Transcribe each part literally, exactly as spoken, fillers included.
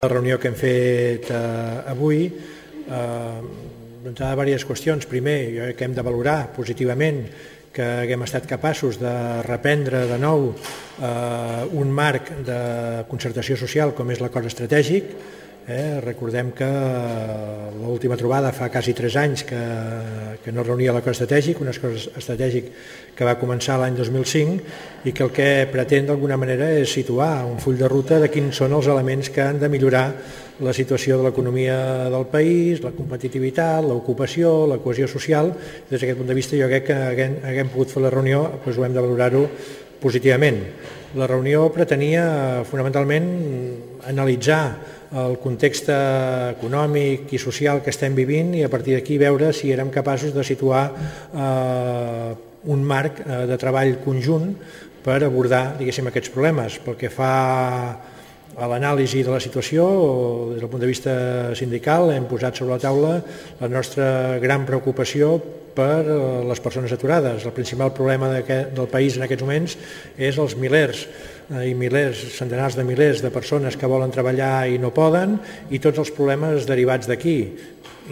La reunió que hem fet eh, avui eh, doncs hi ha diverses qüestions. Primer, jo crec que hem de valorar positivament que haguem estat capaços de reprendre de nou eh, un marc de concertació social com és l'acord estratègic. Eh, recordem que l'última trobada fa quasi tres anys que, que no reunia l'acord estratègic, un acord estratègic que va començar l'any dos mil cinc i que el que pretén d'alguna manera és situar un full de ruta de quins són els elements que han de millorar la situació de l'economia del país, la competitivitat, l'ocupació, la cohesió social. Des d'aquest punt de vista jo crec que haguem, haguem pogut fer la reunió, doncs ho hem de valorar-ho positivament. La reunió pretenia fonamentalment analitzar el context econòmic i social que estem vivint i a partir d'aquí veure si érem capaços de situar eh, un marc de treball conjunt per abordar, diguéssim, aquests problemes. Pel que fa a l'anàlisi de la situació, des del punt de vista sindical, hem posat sobre la taula la nostra gran preocupació per les persones aturades. El principal problema del país en aquests moments és els milers i milers, centenars de milers de persones que volen treballar i no poden i tots els problemes derivats d'aquí,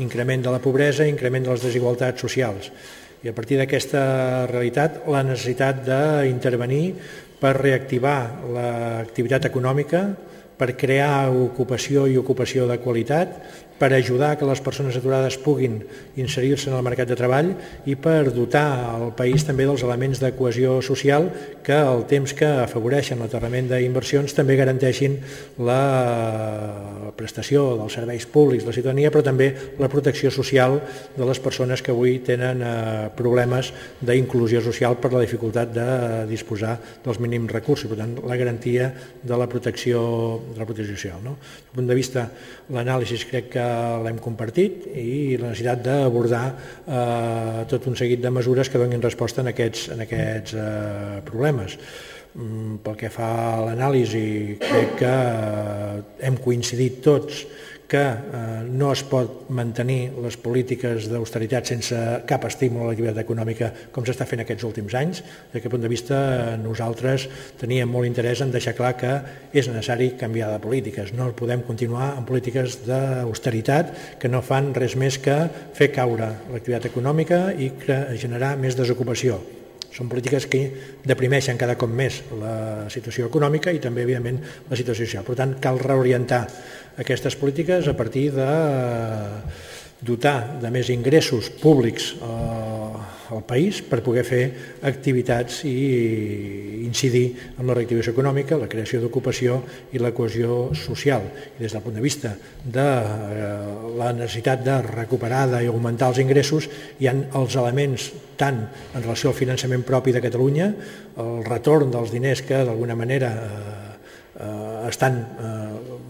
increment de la pobresa, increment de les desigualtats socials. I a partir d'aquesta realitat, la necessitat d'intervenir per reactivar l'activitat econòmica, per crear ocupació i ocupació de qualitat, per ajudar que les persones aturades puguin inserir-se en el mercat de treball i per dotar el país també dels elements de cohesió social que al temps que afavoreixen l'aterrament d'inversions també garanteixin la prestació dels serveis públics de la ciutadania, però també la protecció social de les persones que avui tenen problemes d'inclusió social per la dificultat de disposar dels mínims recursos, per tant, la garantia de la protecció, de la protecció social. No? Des del punt de vista, l'anàlisi crec que l'hem compartit i la necessitat d'abordar eh, tot un seguit de mesures que donin resposta en aquests, en aquests eh, problemes. Mm, pel que fa a l'anàlisi, crec que eh, hem coincidit tots que eh, no es pot mantenir les polítiques d'austeritat sense cap estímul a l'activitat econòmica com s'està fent aquests últims anys. Des d'aquest punt de vista, nosaltres teníem molt interès en deixar clar que és necessari canviar de polítiques. No podem continuar amb polítiques d'austeritat que no fan res més que fer caure l'activitat econòmica i generar més desocupació. Són polítiques que deprimeixen cada cop més la situació econòmica i també, evidentment, la situació social. Per tant, cal reorientar aquestes polítiques a partir de dotar de més ingressos públics al país per poder fer activitats i incidir en la reactivació econòmica, la creació d'ocupació i la cohesió social. I des del punt de vista de la necessitat de recuperar i augmentar els ingressos, hi ha els elements tant en relació al finançament propi de Catalunya, el retorn dels diners que d'alguna manera eh, estan eh,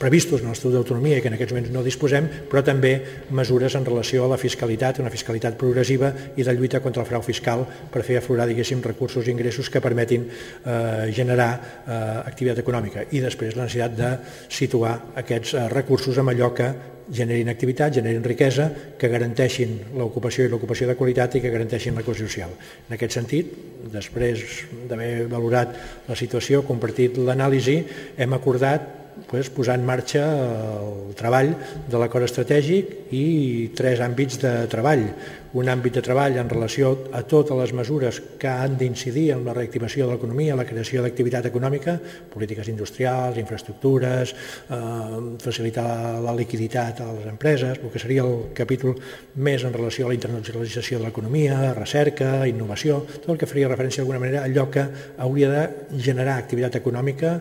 previstos en l'Estatut d'Autonomia i que en aquests moments no disposem, però també mesures en relació a la fiscalitat, una fiscalitat progressiva i de lluita contra el frau fiscal per fer aflorar, diguéssim, recursos i ingressos que permetin eh, generar eh, activitat econòmica. I després la necessitat de situar aquests eh, recursos amb allò que generin activitat, generin riquesa, que garanteixin l'ocupació i l'ocupació de qualitat i que garanteixin la cohesió social. En aquest sentit, després d'haver valorat la situació, compartit l'anàlisi, hem acordat pues, posar en marxa el treball de l'acord estratègic i tres àmbits de treball. Un àmbit de treball en relació a totes les mesures que han d'incidir en la reactivació de l'economia, la creació d'activitat econòmica, polítiques industrials, infraestructures, eh, facilitar la liquiditat a les empreses, el que seria el capítol més en relació a la internacionalització de l'economia, recerca, innovació, tot el que faria referència d'alguna manera a allò que hauria de generar activitat econòmica,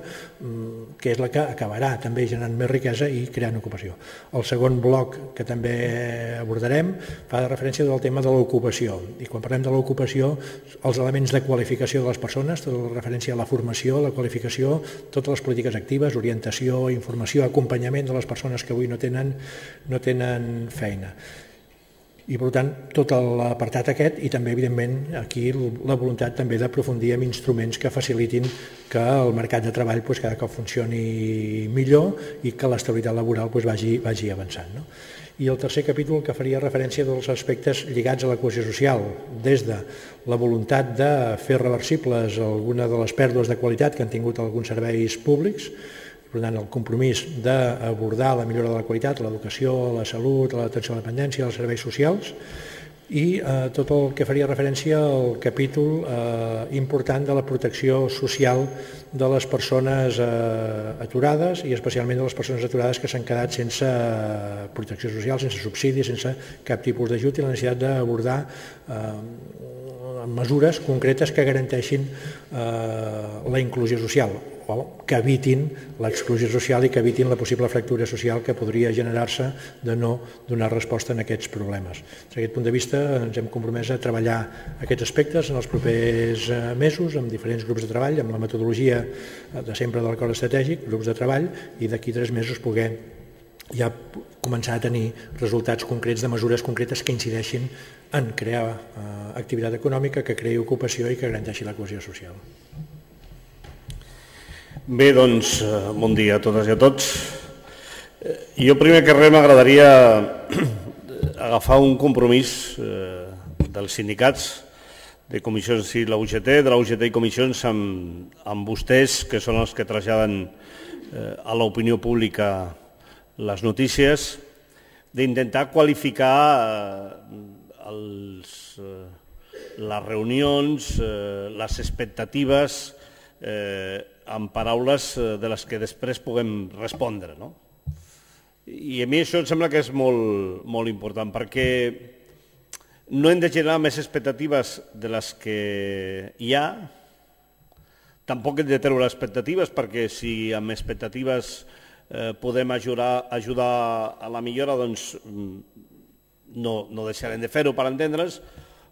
que és la que acabarà també generant més riquesa i creant ocupació. El segon bloc que també abordarem fa referència al tema de l'ocupació. I quan parlem de l'ocupació, els elements de qualificació de les persones, tota la referència a la formació, la qualificació, totes les polítiques actives, orientació, informació, acompanyament de les persones que avui no tenen, no tenen feina. I, per tant, tot l'apartat aquest i també, evidentment, aquí la voluntat també d'aprofundir en instruments que facilitin que el mercat de treball pues, cada cop funcioni millor i que l'estabilitat laboral pues, vagi, vagi avançant. No? I el tercer capítol que faria referència dels aspectes lligats a la cohesió social, des de la voluntat de fer reversibles alguna de les pèrdues de qualitat que han tingut alguns serveis públics, Per tant, el compromís d'abordar la millora de la qualitat, l'educació, la salut, l'atenció a la dependència, els serveis socials, i eh, tot el que faria referència al capítol eh, important de la protecció social de les persones eh, aturades i especialment de les persones aturades que s'han quedat sense eh, protecció social, sense subsidi, sense cap tipus d'ajut i la necessitat d'abordar eh, mesures concretes que garanteixin eh, la inclusió social o que evitin l'exclusió social i que evitin la possible fractura social que podria generar-se de no donar resposta a aquests problemes. Des d'aquest punt de vista ens hem compromès a treballar aquests aspectes en els propers mesos amb diferents grups de treball, amb la metodologia de sempre de l'acord estratègic, grups de treball, i d'aquí tres mesos poder ja començar a tenir resultats concrets de mesures concretes que incideixin en crear eh, activitat econòmica, que creï ocupació i que garanteixi la cohesió social. Bé, doncs, bon dia a totes i a tots. Jo primer que res m'agradaria agafar un compromís eh, dels sindicats de comissions i la U G T, de la U G T i comissions amb, amb vostès, que són els que traslladen eh, a l'opinió pública les notícies, d'intentar qualificar eh, els, eh, les reunions, eh, les expectatives, eh, amb paraules de les que després puguem respondre. No? I a mi això em sembla que és molt, molt important, perquè no hem de generar més expectatives de les que hi ha, tampoc hem de treure expectatives, perquè si amb expectatives eh, podem ajudar, ajudar a la millora, doncs no, no deixarem de fer-ho per entendre's,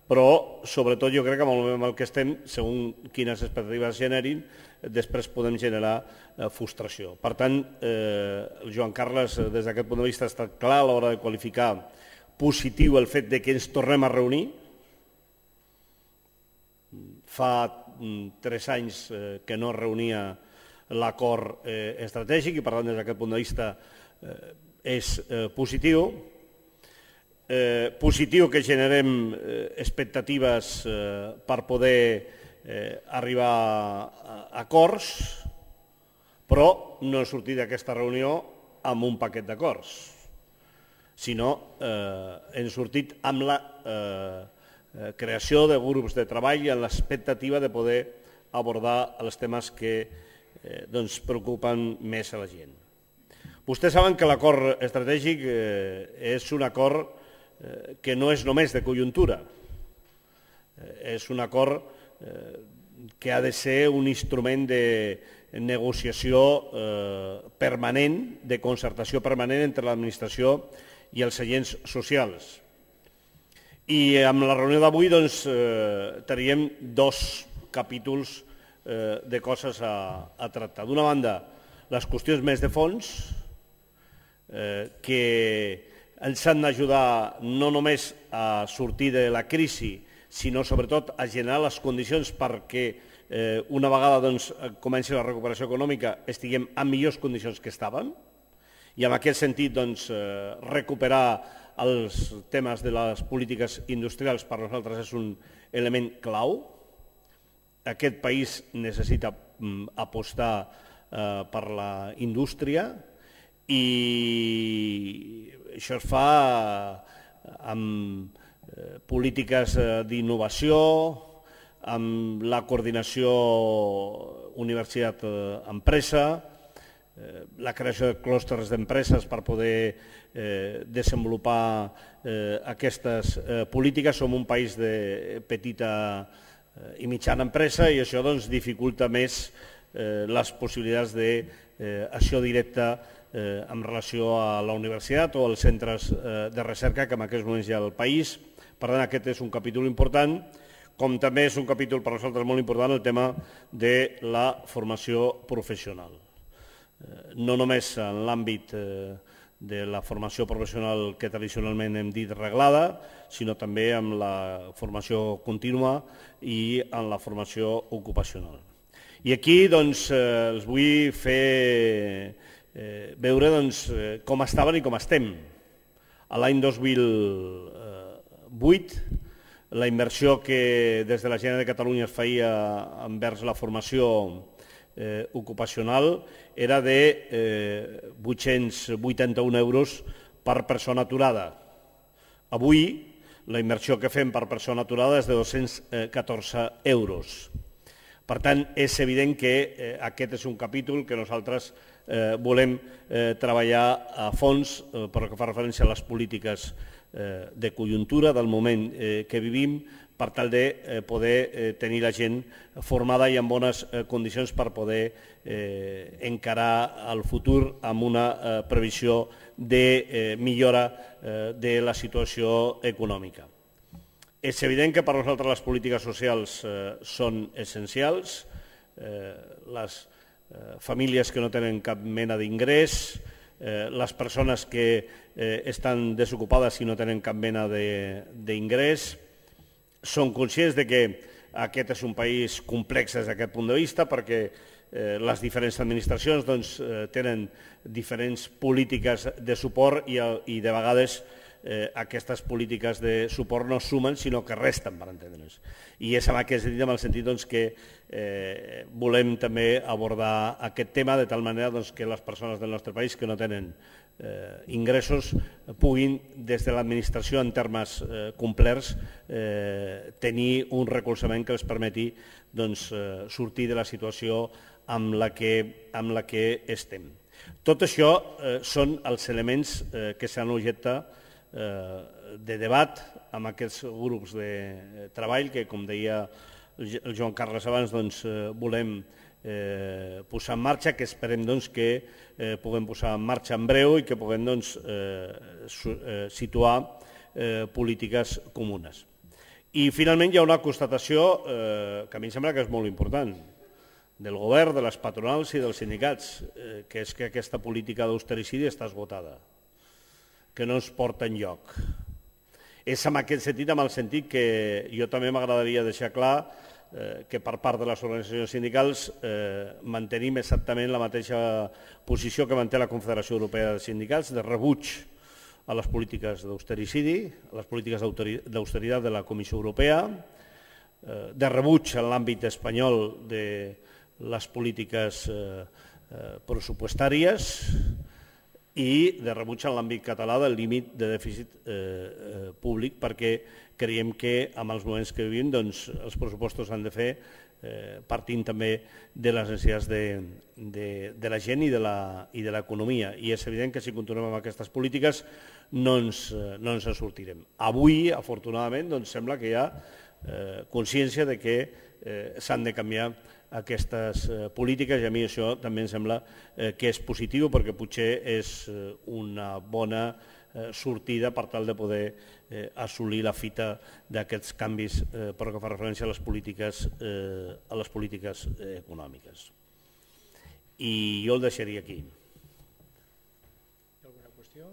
però sobretot jo crec que amb el moment en què estem, segons quines expectatives generin, després podem generar eh, frustració. Per tant, eh, el Joan Carles, des d'aquest punt de vista, ha estat clar a l'hora de qualificar positiu el fet de que ens tornem a reunir. Fa mm, tres anys eh, que no es reunia l'acord eh, estratègic i, per tant, des d'aquest punt de vista eh, és eh, positiu. Eh, positiu que generem eh, expectatives eh, per poder eh, arribar a acords, però no hem sortit d'aquesta reunió amb un paquet d'acords, sinó eh, hem sortit amb la eh, creació de grups de treball i amb l'expectativa de poder abordar els temes que eh, doncs, preocupen més a la gent. Vostès saben que l'acord estratègic eh, és un acord que no és només de conjuntura, és un acord que ha de ser un instrument de negociació permanent, de concertació permanent entre l'administració i els agents socials. I amb la reunió d'avui doncs, teníem dos capítols de coses a, a tractar. D'una banda, les qüestions més de fons, que ens han d'ajudar no només a sortir de la crisi, sinó sobretot a generar les condicions perquè eh, una vegada doncs, comenci la recuperació econòmica estiguem en millors condicions que estàvem i en aquest sentit doncs, eh, recuperar els temes de les polítiques industrials per nosaltres és un element clau. Aquest país necessita mm, apostar eh, per la indústria i això es fa amb polítiques d'innovació, amb la coordinació universitat-empresa, la creació de clústers d'empreses per poder desenvolupar aquestes polítiques. Som un país de petita i mitjana empresa i això doncs, dificulta més les possibilitats d'acció directa Eh, en relació a la universitat o als centres eh, de recerca que en aquests moments hi ha al país. Per tant, aquest és un capítol important, com també és un capítol per nosaltres molt important el tema de la formació professional. Eh, no només en l'àmbit eh, de la formació professional que tradicionalment hem dit reglada, sinó també amb la formació contínua i en la formació ocupacional. I aquí doncs, eh, els vull fer Eh, veure doncs, eh, com estaven i com estem. A l'any dos mil vuit, la inversió que des de la Generalitat de Catalunya es feia envers la formació ocupacional era de vuit-cents vuitanta-un euros per persona aturada. Avui, la inversió que fem per persona aturada és de dos-cents catorze euros. Per tant, és evident que aquest és un capítol que nosaltres volem treballar a fons per que fa referència a les polítiques de conjuntura del moment que vivim, per tal de poder tenir la gent formada i en bones condicions per poder encarar el futur amb una previsió de millora de la situació econòmica. És evident que per nosaltres les polítiques socials són essencials. Les famílies que no tenen cap mena d'ingrés, les persones que estan desocupades i no tenen cap mena d'ingrés, són conscients de que aquest és un país complex des d'aquest punt de vista perquè les diferents administracions tenen diferents polítiques de suport i de vegades aquestes polítiques de suport no sumen sinó que resten, per entendre'ns. I és en aquest sentit, en el sentit que volem també abordar aquest tema de tal manera que les persones del nostre país que no tenen ingressos puguin, des de l'administració en termes complerts, tenir un recolzament que els permeti sortir de la situació amb la que estem. Tot això són els elements que s'han objectat de debat amb aquests grups de treball que, com deia el Joan Carles abans, volem posar en marxa, que esperem que puguem posar en marxa en breu i que puguem situar polítiques comunes. I finalment hi ha una constatació que a mi em sembla que és molt important del govern, de les patronals i dels sindicats, que és que aquesta política d'austericidi està esgotada, que no ens porta enlloc. És en aquest sentit, en el sentit que jo també m'agradaria deixar clar que per part de les organitzacions sindicals mantenim exactament la mateixa posició que manté la Confederació Europea de Sindicats, de rebuig a les polítiques d'austericidi, a les polítiques d'austeritat de la Comissió Europea, de rebuig en l'àmbit espanyol de les polítiques pressupostàries i de rebuig en l'àmbit català del límit de dèficit públic, perquè creiem que en els moments que vivim els pressupostos han de fer partint també de les necessitats de la gent i de l'economia. I és evident que si continuem amb aquestes polítiques no ens en sortirem. Avui, afortunadament, sembla que hi ha consciència de que s'han de canviar aquestes polítiques i a mi això també em sembla que és positiu perquè potser és una bona sortida per tal de poder assolir la fita d'aquests canvis per que fa referència a les polítiques a les polítiques econòmiques. I jo el deixaria aquí. Alguna qüestió?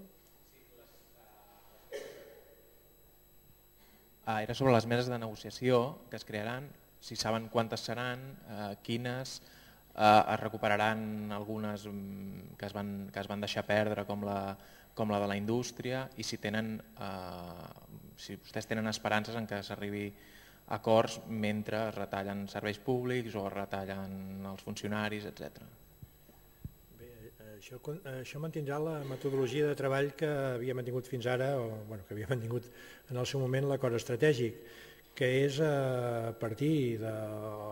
Era sobre les meses de negociació que es crearan. Si saben quantes seran, quines, es recuperaran algunes que es van deixar perdre com la de la indústria i si vostès tenen esperances en que s'arribi a acords mentre es retallen serveis públics o es retallen els funcionaris, etcètera. Bé, això mantindrà la metodologia de treball que havia mantingut fins ara, o que havia mantingut en el seu moment l'acord estratègic, que és a partir de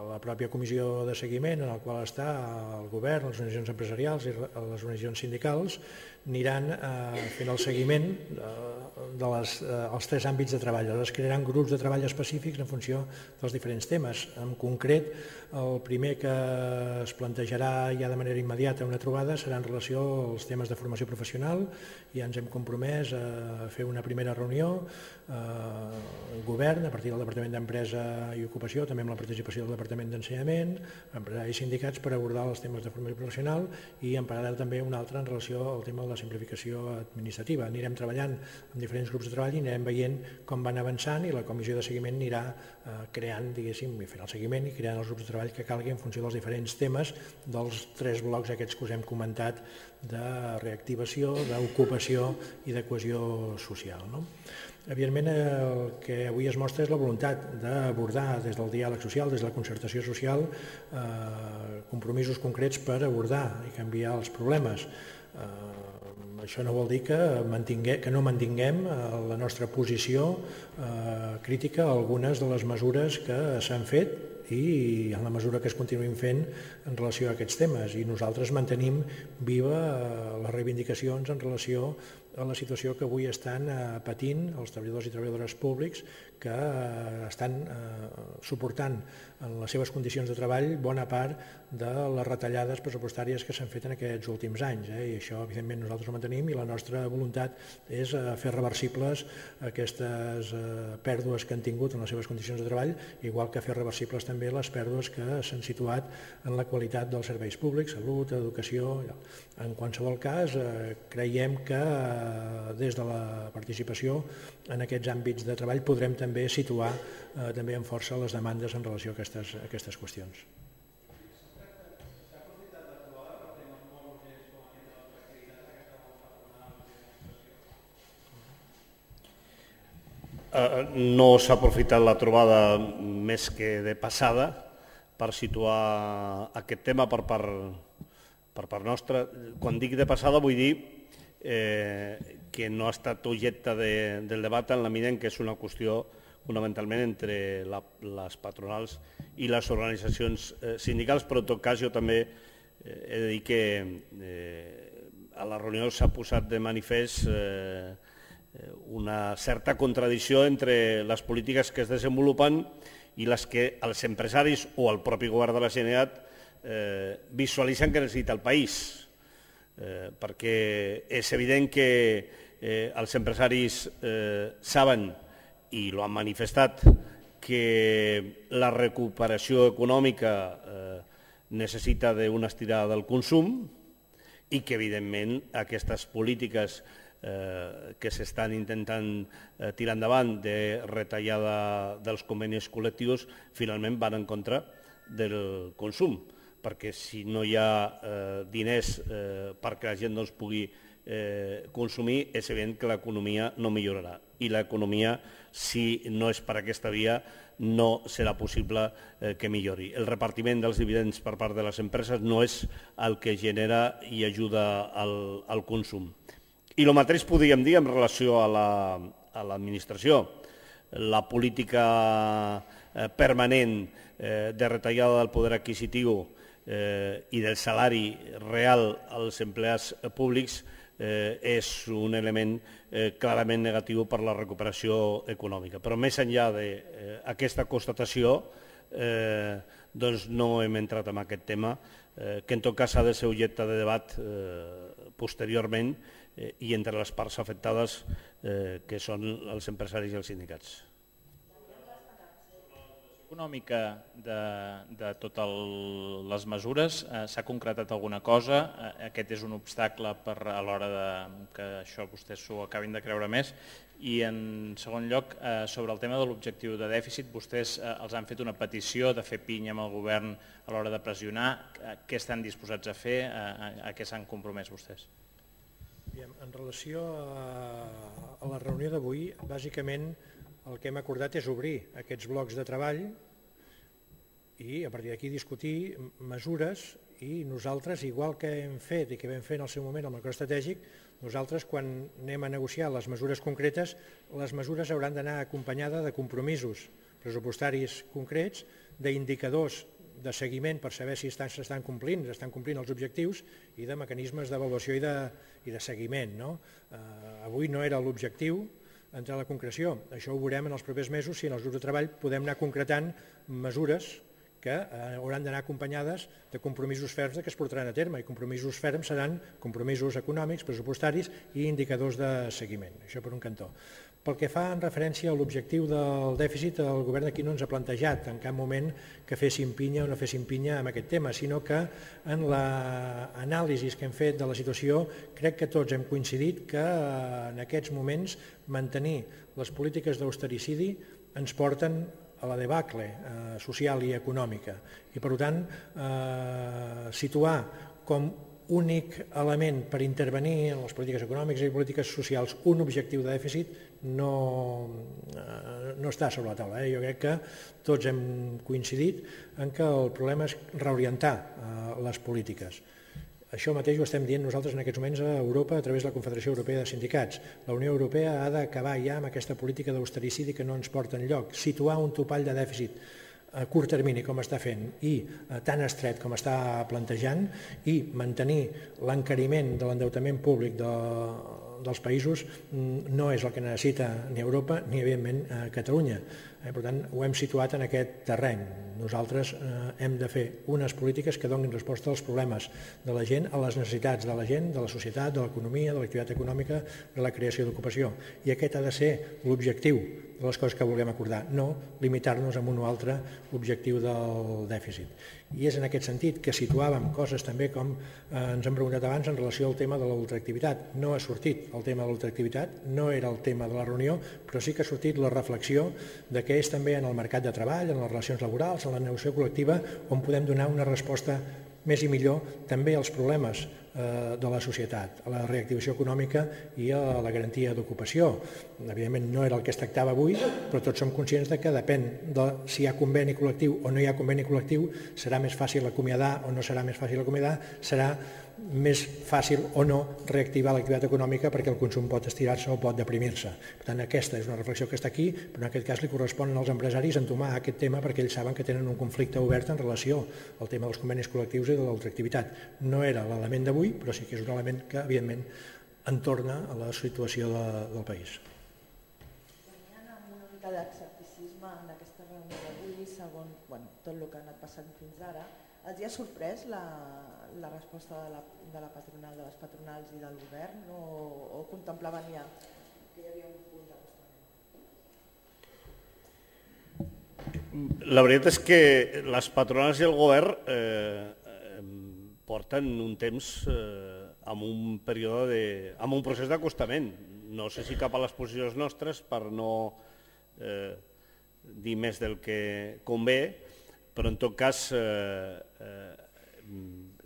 la pròpia comissió de seguiment en la qual està el govern, les organitzacions empresarials i les organitzacions sindicals, aniran fent el seguiment dels tres àmbits de treball. Es crearan grups de treball específics en funció dels diferents temes. En concret, el primer que es plantejarà ja de manera immediata una trobada serà en relació als temes de formació professional. Ja ens hem compromès a fer una primera reunió, el govern, a partir del Departament d'Empresa i Ocupació, també amb la participació del Departament d'Ensenyament, empresaris i sindicats, per abordar els temes de formació professional i en paral·lel també un altre en relació al tema de la simplificació administrativa. Anirem treballant amb diferents grups de treball i anirem veient com van avançant i la comissió de seguiment anirà creant, diguéssim, i fent el seguiment i creant els grups de treball que calgui en funció dels diferents temes dels tres blocs aquests que us hem comentat de reactivació, d'ocupació i de cohesió social. Evidentment, el que avui es mostra és la voluntat d'abordar des del diàleg social, des de la concertació social, compromisos concrets per abordar i canviar els problemes. Això no vol dir que no mantinguem la nostra posició crítica a algunes de les mesures que s'han fet i en la mesura que es continuïn fent en relació a aquests temes. I nosaltres mantenim viva les reivindicacions en relació a la situació que avui estan patint els treballadors i treballadores públics que estan suportant en les seves condicions de treball bona part de les retallades pressupostàries que s'han fet en aquests últims anys. I això, evidentment, nosaltres ho mantenim i la nostra voluntat és fer reversibles aquestes pèrdues que han tingut en les seves condicions de treball, igual que fer reversibles també les pèrdues que s'han situat en la qualitat dels serveis públics, salut, educació. En qualsevol cas, creiem que des de la participació en aquests àmbits de treball podrem també situar també amb força les demandes en relació a aquestes, a aquestes qüestions. No s'ha aprofitat la trobada més que de passada per situar aquest tema per part, per part nostra. Quan dic de passada vull dir eh, que no ha estat objecte de, del debat en la mida en què és una qüestió fonamentalment entre la, les patronals i les organitzacions eh, sindicals, però en tot cas jo també eh, he de dir que eh, a la reunió s'ha posat de manifest eh, una certa contradicció entre les polítiques que es desenvolupen i les que els empresaris o el propi govern de la Generalitat eh, visualitzen que necessita el país. Eh, perquè és evident que eh, els empresaris eh, saben, i lo han manifestat, que la recuperació econòmica eh, necessita d'una estirada del consum i que, evidentment, aquestes polítiques eh, que s'estan intentant eh, tirar endavant de retallada dels convenis col·lectius finalment van en contra del consum, perquè si no hi ha eh, diners eh, perquè la gent doncs, pugui eh, consumir, és evident que l'economia no millorarà. I l'economia, si no és per aquesta via, no serà possible eh, que millori. El repartiment dels dividends per part de les empreses no és el que genera i ajuda al, al consum. I el mateix podríem dir en relació a l'administració. La política eh, permanent eh, de retallada del poder adquisitiu eh, i del salari real als empleats públics eh, és un element eh, clarament negatiu per la recuperació econòmica. Però més enllà d'aquesta constatació, eh, doncs no hem entrat en aquest tema, eh, que en tot cas ha de ser objecte de debat eh, posteriorment eh, i entre les parts afectades, eh, que són els empresaris i els sindicats. Econòmica de, de totes les mesures, eh, s'ha concretat alguna cosa? Eh, aquest és un obstacle per, a l'hora de, que això vostès s'ho acabin de creure més. I en segon lloc, eh, sobre el tema de l'objectiu de dèficit, vostès eh, els han fet una petició de fer pinya amb el govern a l'hora de pressionar. Eh, què estan disposats a fer? Eh, a, a què s'han compromès vostès? En relació a, a la reunió d'avui, bàsicament el que hem acordat és obrir aquests blocs de treball i a partir d'aquí discutir mesures i nosaltres, igual que hem fet i que vam fer en el seu moment amb el acord estratègic, nosaltres quan anem a negociar les mesures concretes, les mesures hauran d'anar acompanyades de compromisos pressupostaris concrets, d'indicadors de seguiment per saber si s'estan complint, s'estan complint els objectius i de mecanismes d'avaluació i, de, i de seguiment. No? Eh, avui no era l'objectiu entrar a la concreció. Això ho veurem en els propers mesos si en els grups de treball podem anar concretant mesures que hauran d'anar acompanyades de compromisos ferms que es portaran a terme, i compromisos ferms seran compromisos econòmics, pressupostaris i indicadors de seguiment. Això per un cantó. Pel que fa en referència a l'objectiu del dèficit, el govern aquí no ens ha plantejat en cap moment que féssim pinya o no féssim pinya amb aquest tema, sinó que en l'anàlisi que hem fet de la situació crec que tots hem coincidit que en aquests moments mantenir les polítiques d'austericidi ens porten a la debacle eh, social i econòmica. I per tant, eh, situar com únic element per intervenir en les polítiques econòmiques i polítiques socials, un objectiu de dèficit, no, no està sobre la taula. Jo crec que tots hem coincidit en que el problema és reorientar les polítiques. Això mateix ho estem dient nosaltres en aquests moments a Europa a través de la Confederació Europea de Sindicats. La Unió Europea ha d'acabar ja amb aquesta política d'austericidi que no ens porta enlloc, situar un topall de dèficit a curt termini com està fent i tan estret com està plantejant i mantenir l'encariment de l'endeutament públic de, dels països no és el que necessita ni Europa ni evidentment Catalunya. Per tant, ho hem situat en aquest terreny. Nosaltres hem de fer unes polítiques que donin resposta als problemes de la gent, a les necessitats de la gent, de la societat, de l'economia, de l'activitat econòmica, de la creació d'ocupació. I aquest ha de ser l'objectiu de les coses que vulguem acordar, no limitar-nos a un o altre objectiu del dèficit. I és en aquest sentit que situàvem coses també com ens hem preguntat abans en relació al tema de l'ultraactivitat. No ha sortit el tema de l'ultraactivitat, no era el tema de la reunió, però sí que ha sortit la reflexió de què és també en el mercat de treball, en les relacions laborals, en la negociació col·lectiva, on podem donar una resposta més i millor també als problemes de la societat, a la reactivació econòmica i a la garantia d'ocupació. Evidentment no era el que es tractava avui, però tots som conscients que depèn de si hi ha conveni col·lectiu o no hi ha conveni col·lectiu, serà més fàcil acomiadar o no serà més fàcil acomiadar, serà més fàcil o no reactivar l'activitat econòmica perquè el consum pot estirar-se o pot deprimir-se. Per tant, aquesta és una reflexió que està aquí, però en aquest cas li correspon als empresaris entomar aquest tema perquè ells saben que tenen un conflicte obert en relació al tema dels convenis col·lectius i de l'ultraactivitat. No era l'element d'avui, però sí que és un element que, evidentment, entorna a la situació de, del país. Venien amb una mica d'escepticisme en aquesta reunió d'avui, segons bueno, tot el que ha anat passant fins ara. Els hi ha sorprès la, la resposta de la, de la patronal, de les patronals i del govern, o, o contemplaven ja que hi havia un punt d'acostament? La veritat és que les patronals i el govern eh, porten un temps eh, amb un període de, amb un procés d'acostament. No sé si cap a les posicions nostres per no eh, dir més del que convé, però en tot cas, eh, eh,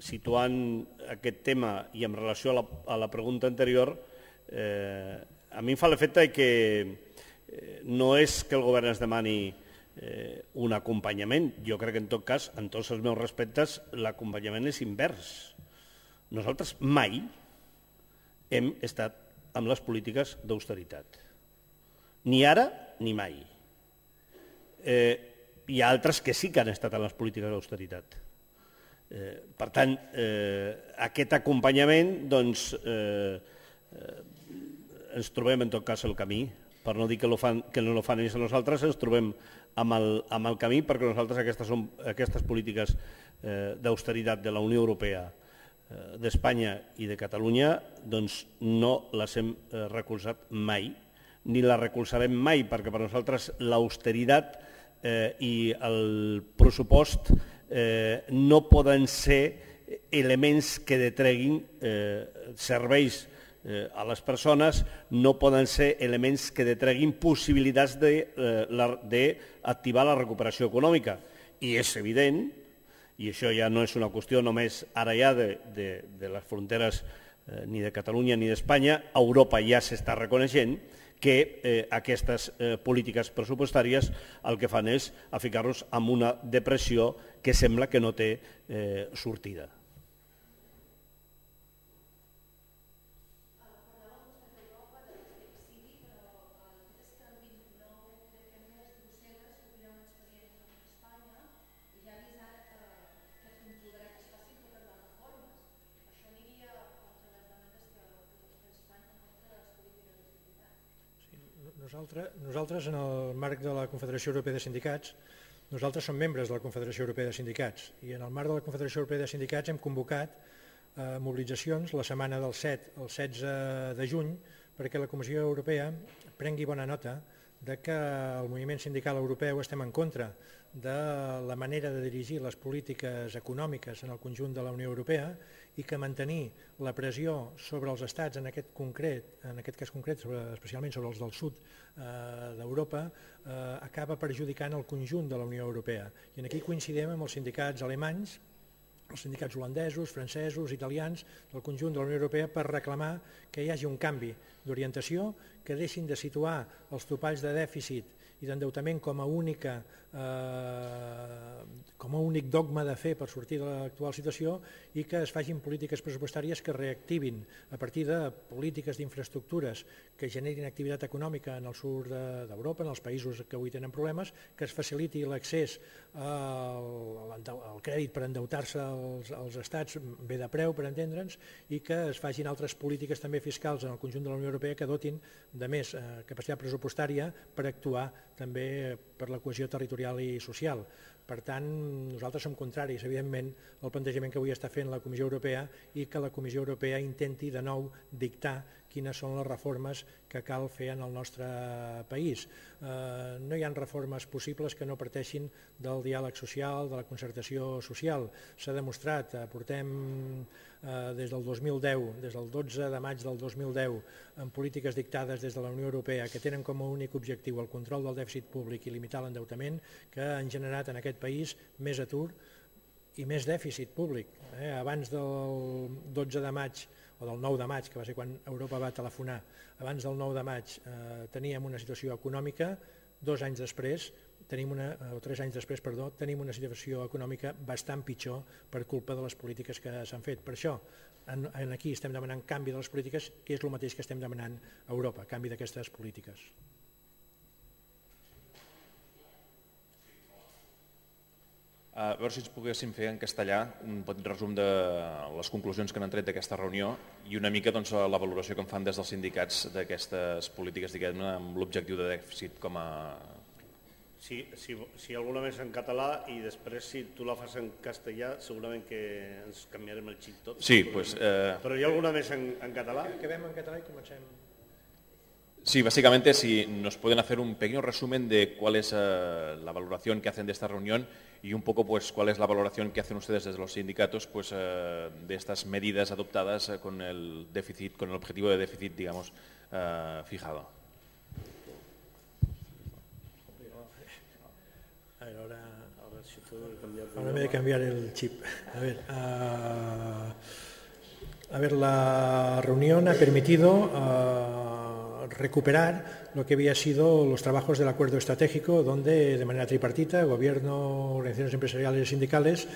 situant aquest tema i en relació a la, a la pregunta anterior, eh, a mi em fa l'efecte que eh, no és que el govern es demani eh, un acompanyament. Jo crec que en tot cas, en tots els meus respectes, l'acompanyament és invers. Nosaltres mai hem estat amb les polítiques d'austeritat. Ni ara ni mai. Eh, Hi ha altres que sí que han estat en les polítiques d'austeritat. Eh, per tant, eh, aquest acompanyament, doncs, eh, eh, ens trobem en tot cas el camí, per no dir que, lo fan, que no lo fan ells a nosaltres, ens trobem amb el, amb el camí perquè nosaltres aquestes, són, aquestes polítiques eh, d'austeritat de la Unió Europea, eh, d'Espanya i de Catalunya, doncs no les hem eh, recolzat mai, ni les recolzarem mai, perquè per nosaltres l'austeritat Eh, i el pressupost eh, no poden ser elements que detreguin eh, serveis eh, a les persones, no poden ser elements que detreguin possibilitats d'activar eh, la recuperació econòmica. I és evident, i això ja no és una qüestió només ara ja de, de, de les fronteres eh, ni de Catalunya ni d'Espanya, a Europa ja s'està reconeixent que eh, aquestes eh, polítiques pressupostàries el que fan és a ficar-nos en una depressió que sembla que no té eh, sortida. Nosaltres, nosaltres, en el marc de la Confederació Europea de Sindicats, nosaltres som membres de la Confederació Europea de Sindicats i en el marc de la Confederació Europea de Sindicats hem convocat eh, mobilitzacions la setmana del set al setze de juny perquè la Comissió Europea prengui bona nota de que el moviment sindical europeu estem en contra de la manera de dirigir les polítiques econòmiques en el conjunt de la Unió Europea i que mantenir la pressió sobre els estats, en aquest, concret, en aquest cas concret, sobre, especialment sobre els del sud eh, d'Europa, eh, acaba perjudicant el conjunt de la Unió Europea. I aquí coincidim amb els sindicats alemanys els sindicats holandesos, francesos, italians, del conjunt de la Unió Europea per reclamar que hi hagi un canvi d'orientació, que deixin de situar els topalls de dèficit i d'endeutament com a única eh, com a únic dogma de fer per sortir de l'actual situació i que es facin polítiques pressupostàries que reactivin a partir de polítiques d'infraestructures que generin activitat econòmica en el sud d'Europa, en els països que avui tenen problemes, que es faciliti l'accés al, al crèdit per endeutar-se als, als estats bé de preu, per entendre'ns, i que es facin altres polítiques també fiscals en el conjunt de la Unió Europea que dotin de més eh, capacitat pressupostària per actuar també per la cohesió territorial i social. Per tant, nosaltres som contraris, evidentment, al plantejament que avui està fent la Comissió Europea i que la Comissió Europea intenti de nou dictar quines són les reformes que cal fer en el nostre país. Eh, no hi ha reformes possibles que no parteixin del diàleg social, de la concertació social. S'ha demostrat, eh, portem eh, des del dos mil deu, des del dotze de maig del dos mil deu, en polítiques dictades des de la Unió Europea que tenen com a únic objectiu el control del dèficit públic i limitar l'endeutament, que han generat en aquest país més atur i més dèficit públic. Eh? Abans del dotze de maig o del nou de maig, que va ser quan Europa va telefonar, abans del nou de maig eh, teníem una situació econòmica, dos anys després, tenim una, o tres anys després, perdó, tenim una situació econòmica bastant pitjor per culpa de les polítiques que s'han fet. Per això, en, en aquí estem demanant canvi de les polítiques, que és el mateix que estem demanant a Europa, canvi d'aquestes polítiques. A veure si ens poguéssim fer en castellà un petit resum de les conclusions que han tret d'aquesta reunió i una mica doncs, la valoració que en fan des dels sindicats d'aquestes polítiques, diguem-ne, amb l'objectiu de dèficit com a... Si, si, si alguna més en català i després si tu la fas en castellà segurament que ens canviarem el xip tot. Sí, pues, eh... Però hi ha alguna més en, en català? Acabem en català i comencem. Sí, básicamente si nos pueden hacer un pequeño resumen de cuál es uh, la valoración que hacen de esta reunión y un poco pues cuál es la valoración que hacen ustedes desde los sindicatos pues uh, de estas medidas adoptadas uh, con el déficit, con el objetivo de déficit, digamos, uh, fijado. A ver, ahora, ahora, si ahora me he de cambiar el chip. A ver, uh, a ver, la reunión ha permitido uh, recuperar lo que había sido los trabajos del acuerdo estratégico, donde de manera tripartita, gobierno, organizaciones empresariales y sindicales,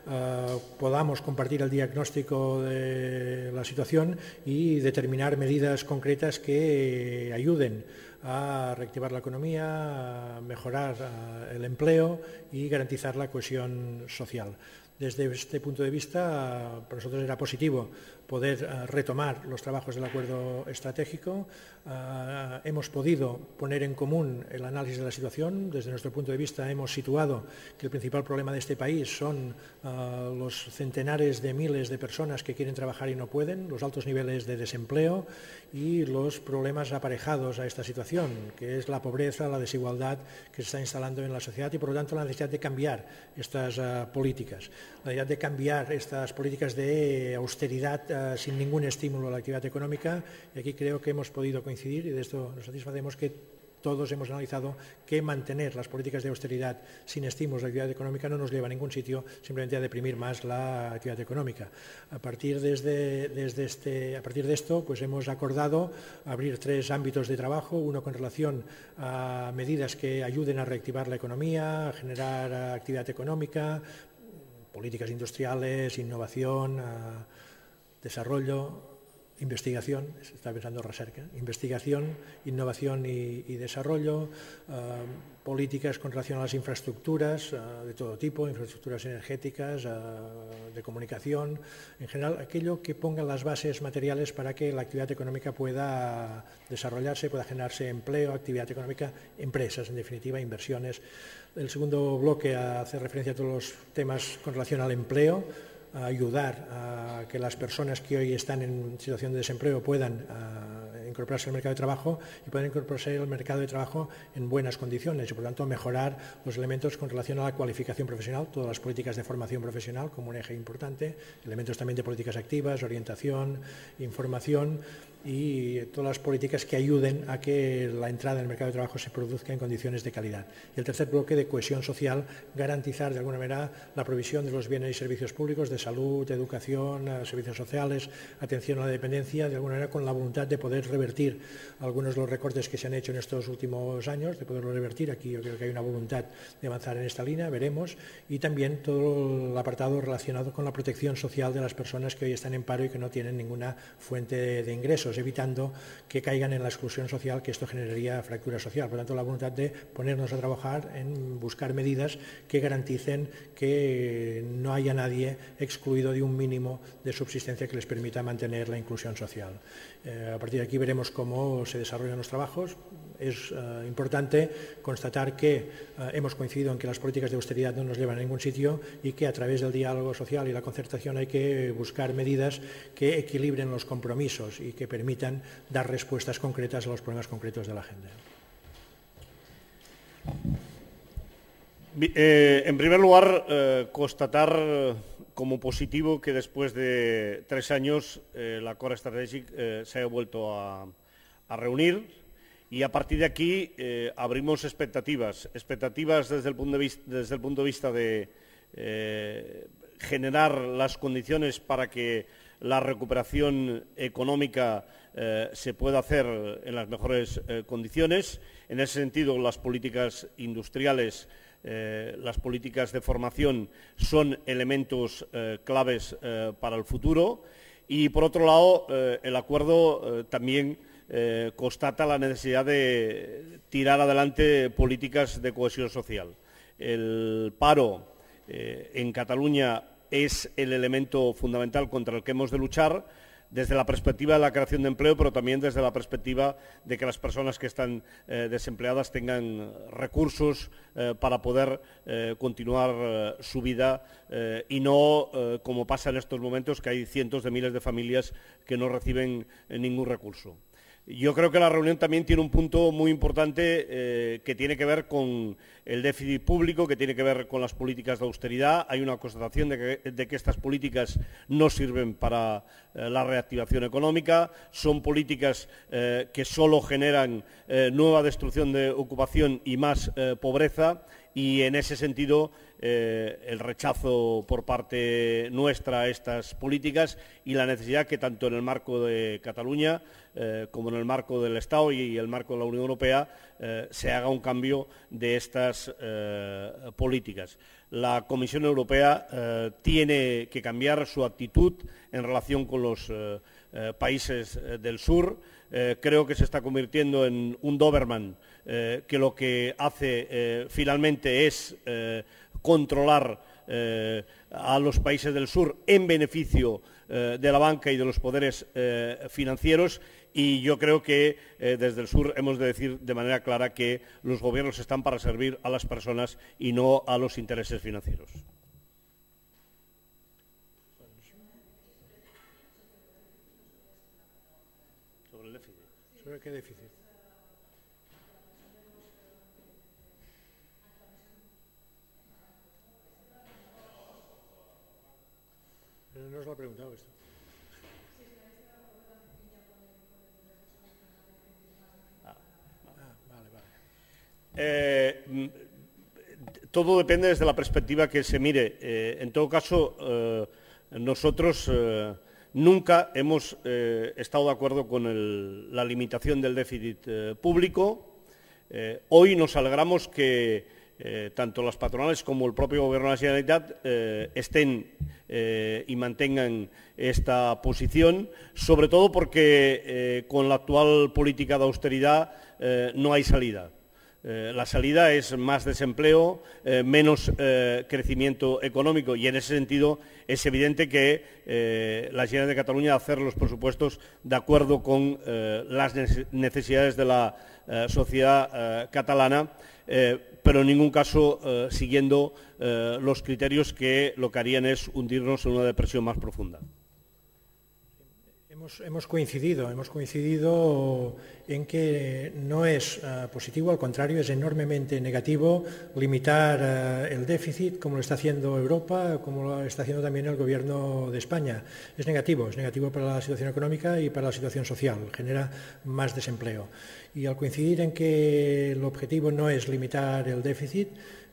eh, podamos compartir el diagnóstico de la situación y determinar medidas concretas que ayuden a reactivar la economía, a mejorar uh, el empleo y garantizar la cohesión social. Desde este punto de vista, uh, para nosotros era positivo poder uh, retomar los trabajos del acuerdo estratégico. Uh, hemos podido poner en común el análisis de la situación. Desde nuestro punto de vista hemos situado que el principal problema de este país son uh, los centenares de miles de personas que quieren trabajar y no pueden, los altos niveles de desempleo y los problemas aparejados a esta situación, que es la pobreza, la desigualdad que se está instalando en la sociedad y, por lo tanto, la necesidad de cambiar estas uh, políticas, la necesidad de cambiar estas políticas de austeridad uh, sin ningún estímulo a la actividad económica. Y aquí creo que hemos podido coincidir y de esto nos satisfacemos que todos hemos analizado que mantener las políticas de austeridad sin estímulos a la actividad económica no nos lleva a ningún sitio, simplemente a deprimir más la actividad económica. A partir, desde, desde este, a partir de esto, pues hemos acordado abrir tres ámbitos de trabajo, uno con relación a medidas que ayuden a reactivar la economía, a generar actividad económica, políticas industriales, innovación, desarrollo, investigación, se está pensando recerca, investigación, innovación y, y desarrollo, uh, políticas con relación a las infraestructuras uh, de todo tipo, infraestructuras energéticas, uh, de comunicación, en general aquello que ponga las bases materiales para que la actividad económica pueda desarrollarse, pueda generarse empleo, actividad económica, empresas, en definitiva, inversiones. El segundo bloque hace referencia a todos los temas con relación al empleo, a ayudar a que las personas que hoy están en situación de desempleo puedan uh, incorporarse al mercado de trabajo y puedan incorporarse al mercado de trabajo en buenas condiciones y, por lo tanto, mejorar los elementos con relación a la cualificación profesional, todas las políticas de formación profesional como un eje importante, elementos también de políticas activas, orientación, información y todas las políticas que ayuden a que la entrada en el mercado de trabajo se produzca en condiciones de calidad. Y el tercer bloque de cohesión social, garantizar de alguna manera la provisión de los bienes y servicios públicos de salud, educación, servicios sociales, atención a la dependencia, de alguna manera con la voluntad de poder revertir algunos de los recortes que se han hecho en estos últimos años, de poderlo revertir. Aquí yo creo que hay una voluntad de avanzar en esta línea, veremos, y también todo el apartado relacionado con la protección social de las personas que hoy están en paro y que no tienen ninguna fuente de ingresos, evitando que caigan en la exclusión social, que esto generaría fractura social. Por tanto, la voluntad de ponernos a trabajar en buscar medidas que garanticen que no haya nadie excluido de un mínimo de subsistencia que les permita mantener la inclusión social. Eh, a partir de aquí veremos cómo se desarrollan los trabajos. Es eh, importante constatar que eh, hemos coincidido en que las políticas de austeridad no nos llevan a ningún sitio y que a través del diálogo social y la concertación hay que buscar medidas que equilibren los compromisos y que permitan dar respuestas concretas a los problemas concretos de la agenda. Eh, en primer lugar, eh, constatar como positivo que después de tres años eh, el acuerdo estratégico eh, se haya vuelto a, a reunir. Y a partir de aquí eh, abrimos expectativas, expectativas desde el punto de vista, desde el punto de, vista de eh, generar las condiciones para que la recuperación económica eh, se pueda hacer en las mejores eh, condiciones. En ese sentido, las políticas industriales, eh, las políticas de formación son elementos eh, claves eh, para el futuro. Y, por otro lado, eh, el acuerdo eh, también Eh, constata la necesidad de tirar adelante políticas de cohesión social. El paro eh, en Cataluña es el elemento fundamental contra el que hemos de luchar desde la perspectiva de la creación de empleo, pero también desde la perspectiva de que las personas que están eh, desempleadas tengan recursos eh, para poder eh, continuar eh, su vida eh, y no, eh, como pasa en estos momentos, que hay cientos de miles de familias que no reciben eh, ningún recurso. Yo creo que la reunión también tiene un punto muy importante eh, que tiene que ver con el déficit público, que tiene que ver con las políticas de austeridad. Hay una constatación de que, de que estas políticas no sirven para eh, la reactivación económica, son políticas eh, que solo generan eh, nueva destrucción de ocupación y más eh, pobreza. Y en ese sentido, eh, el rechazo por parte nuestra a estas políticas y la necesidad que tanto en el marco de Cataluña eh, como en el marco del Estado y el marco de la Unión Europea eh, se haga un cambio de estas eh, políticas. La Comisión Europea eh, tiene que cambiar su actitud en relación con los eh, eh, países eh, del sur. Eh, creo que se está convirtiendo en un Doberman eh, que lo que hace eh, finalmente es eh, controlar eh, a los países del sur en beneficio eh, de la banca y de los poderes eh, financieros, y yo creo que eh, desde el sur hemos de decir de manera clara que los gobiernos están para servir a las personas y no a los intereses financieros. ¿Sobre qué déficit? Pero no os lo he preguntado esto. Ah, vale, vale. Eh, todo depende desde la perspectiva que se mire. Eh, en todo caso, eh, nosotros eh, nunca hemos eh, estado de acuerdo con el, la limitación del déficit eh, público. Eh, hoy nos alegramos que eh, tanto las patronales como el propio Gobierno de la Generalitat eh, estén eh, y mantengan esta posición, sobre todo porque eh, con la actual política de austeridad eh, no hay salida. Eh, la salida es más desempleo, eh, menos eh, crecimiento económico, y en ese sentido es evidente que eh, la Generalitat de Cataluña hacer los presupuestos de acuerdo con eh, las necesidades de la eh, sociedad eh, catalana, eh, pero en ningún caso eh, siguiendo eh, los criterios que lo que harían es hundirnos en una depresión más profunda. Hemos, hemos coincidido, hemos coincidido en que no es uh, positivo, al contrario, es enormemente negativo limitar uh, el déficit como lo está haciendo Europa, como lo está haciendo también el Gobierno de España. Es negativo, es negativo para la situación económica y para la situación social, genera más desempleo. Y al coincidir en que el objetivo no es limitar el déficit,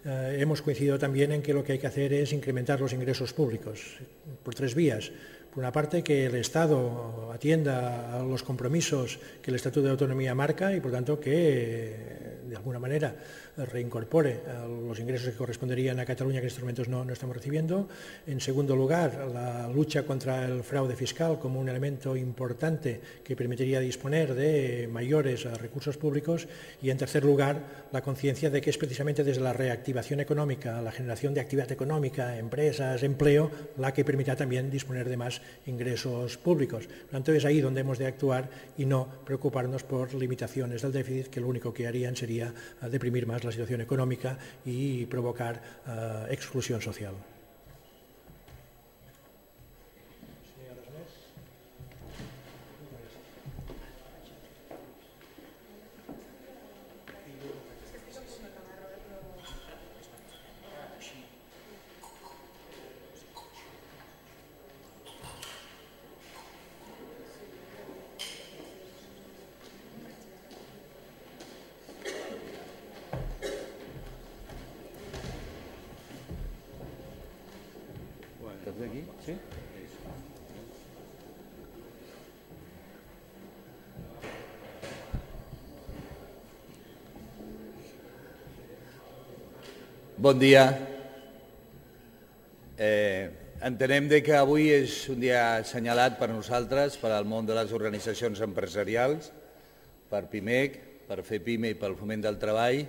uh, hemos coincidido también en que lo que hay que hacer es incrementar los ingresos públicos por tres vías. Por una parte, que el Estado atienda a los compromisos que el Estatuto de Autonomía marca y, por tanto, que de alguna manera reincorpore los ingresos que corresponderían a Cataluña que en estos momentos no, no estamos recibiendo. En segundo lugar, la lucha contra el fraude fiscal como un elemento importante que permitiría disponer de mayores recursos públicos. Y, en tercer lugar, la conciencia de que es precisamente desde la reactivación económica, la generación de actividad económica, empresas, empleo, la que permitirá también disponer de más ingresos públicos. Por tanto, es ahí donde hemos de actuar y no preocuparnos por limitaciones del déficit, que lo único que harían sería deprimir más la situación económica y provocar uh, exclusión social. Aquí? Sí? Bon dia. Eh, entenem de que avui és un dia assenyalat per nosaltres, per al món de les organitzacions empresarials, per PIMEC, per FEPIME i pel Foment del Treball,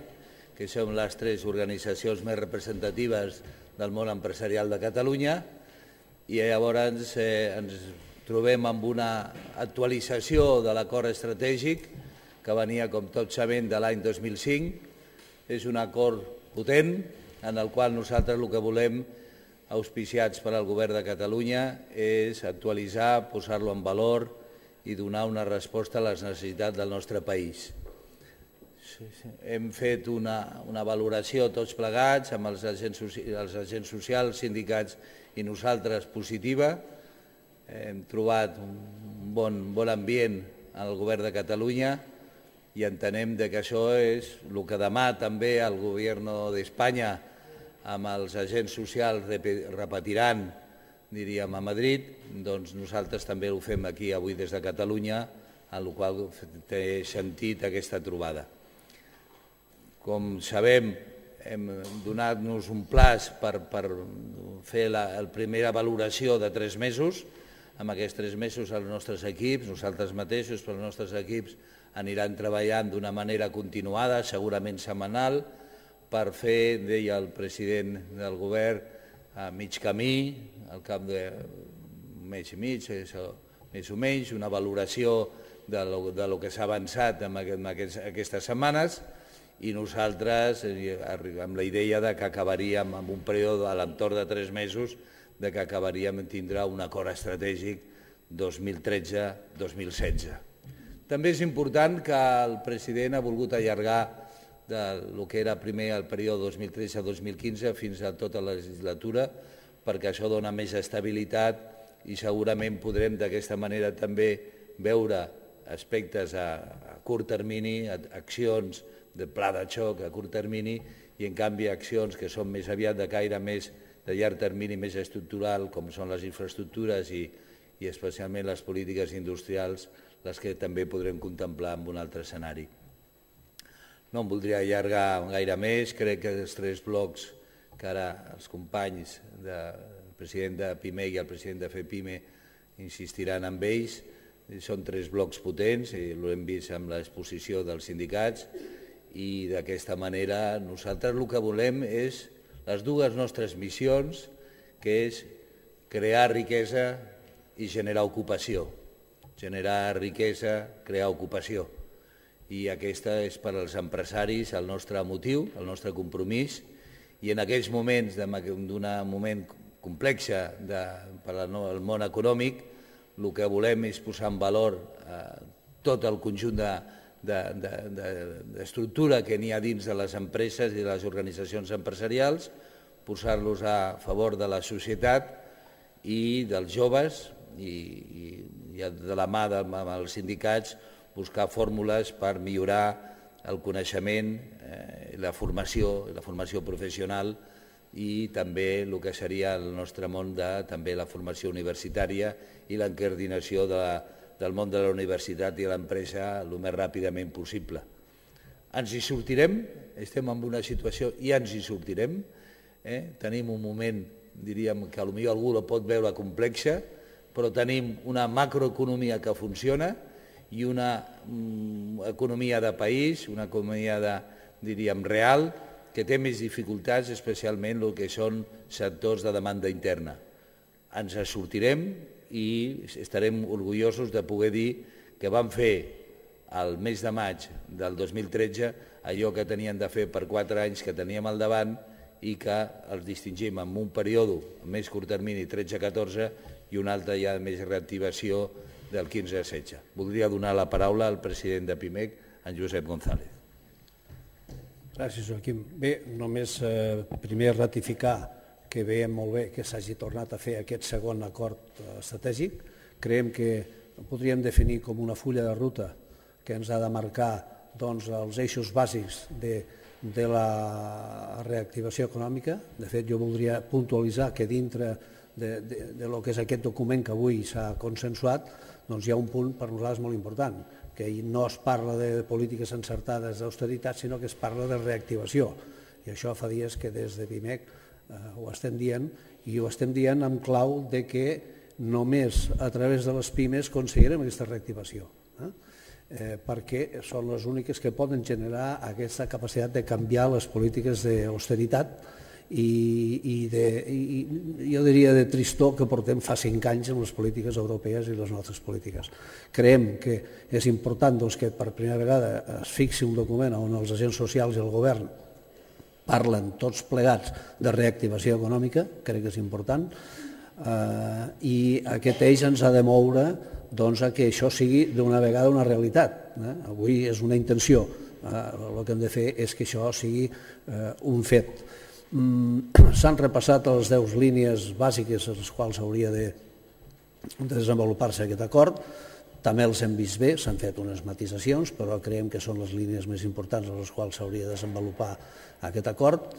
que som les tres organitzacions més representatives del món empresarial de Catalunya. I llavors eh, ens trobem amb una actualització de l'acord estratègic que venia, com tots sabem, de l'any dos mil cinc. És un acord potent en el qual nosaltres el que volem, auspiciats per al Govern de Catalunya, és actualitzar, posar-lo en valor i donar una resposta a les necessitats del nostre país. Hem fet una, una valoració tots plegats amb els agents, els agents socials, sindicats i nosaltres positiva. Hem trobat un bon, bon ambient al Govern de Catalunya i entenem que això és el que demà també el Govern d'Espanya amb els agents socials repetiran, diríem, a Madrid, doncs nosaltres també ho fem aquí avui des de Catalunya, en el qual té sentit aquesta trobada. Com sabem, hem donat-nos un plaç per, per fer la, la primera valoració de tres mesos. Amb aquests tres mesos els nostres equips, nosaltres mateixos, però els nostres equips aniran treballant d'una manera continuada, segurament setmanal, per fer, deia el president del govern, a mig camí, al cap d'un mes i mig, més o menys, una valoració de lo, de lo que s'ha avançat en aquest, aquestes setmanes, i nosaltres, amb la idea de que acabaríem amb un període a l'entorn de tres mesos, de que acabaríem tindrà un acord estratègic dos mil tretze dos mil setze. També és important que el president ha volgut allargar del que era primer el període dos mil tretze dos mil quinze fins a tota la legislatura, perquè això dona més estabilitat i segurament podrem d'aquesta manera també veure aspectes a, a curt termini, accions de pla de xoc a curt termini i en canvi accions que són més aviat de caire més de llarg termini, més estructural, com són les infraestructures i, i especialment les polítiques industrials, les que també podrem contemplar en un altre escenari. No em voldria allargar gaire més, crec que els tres blocs que ara els companys, el president de PIMEC i el president de FEPIME insistiran en ells, són tres blocs potents, i ho hem vist amb l'exposició dels sindicats, i d'aquesta manera nosaltres el que volem és les dues nostres missions, que és crear riquesa i generar ocupació. Generar riquesa, crear ocupació. I aquesta és per als empresaris el nostre motiu, el nostre compromís, i en aquells moments d'un moment complex per al món econòmic, el que volem és posar en valor tot el conjunt d'estructura que n'hi ha dins de les empreses i de les organitzacions empresarials, posar-los a favor de la societat i dels joves i de la mà amb els sindicats buscar fórmules per millorar el coneixement, la formació, la formació professional i també el que seria el nostre món de també la formació universitària i l'encardinació del món de la universitat i l'empresa el més ràpidament possible. Ens hi sortirem, estem en una situació i ens hi sortirem. Tenim un moment, diríem, que potser algú la pot veure complexa, però tenim una macroeconomia que funciona i una economia de país, una economia, diríem, real, que té més dificultats, especialment el que són sectors de demanda interna. Ens en sortirem i estarem orgullosos de poder dir que vam fer al mes de maig del dos mil tretze allò que tenien de fer per quatre anys que teníem al davant i que els distingim en un període més curt termini, tretze catorze, i un altre ja de més reactivació del quinze setze. Voldria donar la paraula al president de PIMEC, en Josep González. Gràcies, Joaquim. Bé, només primer ratificar que veiem molt bé que s'hagi tornat a fer aquest segon acord estratègic. Creiem que ho podríem definir com una fulla de ruta que ens ha de marcar els eixos bàsics de la reactivació econòmica. De fet, jo voldria puntualitzar que dintre del que és aquest document que avui s'ha consensuat, doncs hi ha un punt per nosaltres molt important, que no es parla de polítiques encertades d'austeritat, sinó que es parla de reactivació. I això fa dies que des de PIMEC ho estem dient, i ho estem dient en clau de que només a través de les pimes aconseguirem aquesta reactivació, perquè són les úniques que poden generar aquesta capacitat de canviar les polítiques d'austeritat i jo diria de tristor que portem fa cinc anys en les polítiques europees i les nostres polítiques. Creiem que és important que per primera vegada es fixi un document on els agents socials i el govern parlen tots plegats de reactivació econòmica, crec que és important, i aquest eix ens ha de moure a que això sigui d'una vegada una realitat. Avui és una intenció, el que hem de fer és que això sigui un fet. S'han repassat les deu línies bàsiques a les quals hauria de desenvolupar-se aquest acord. També els hem vist bé, s'han fet unes matisacions, però creiem que són les línies més importants a les quals s'hauria de desenvolupar aquest acord.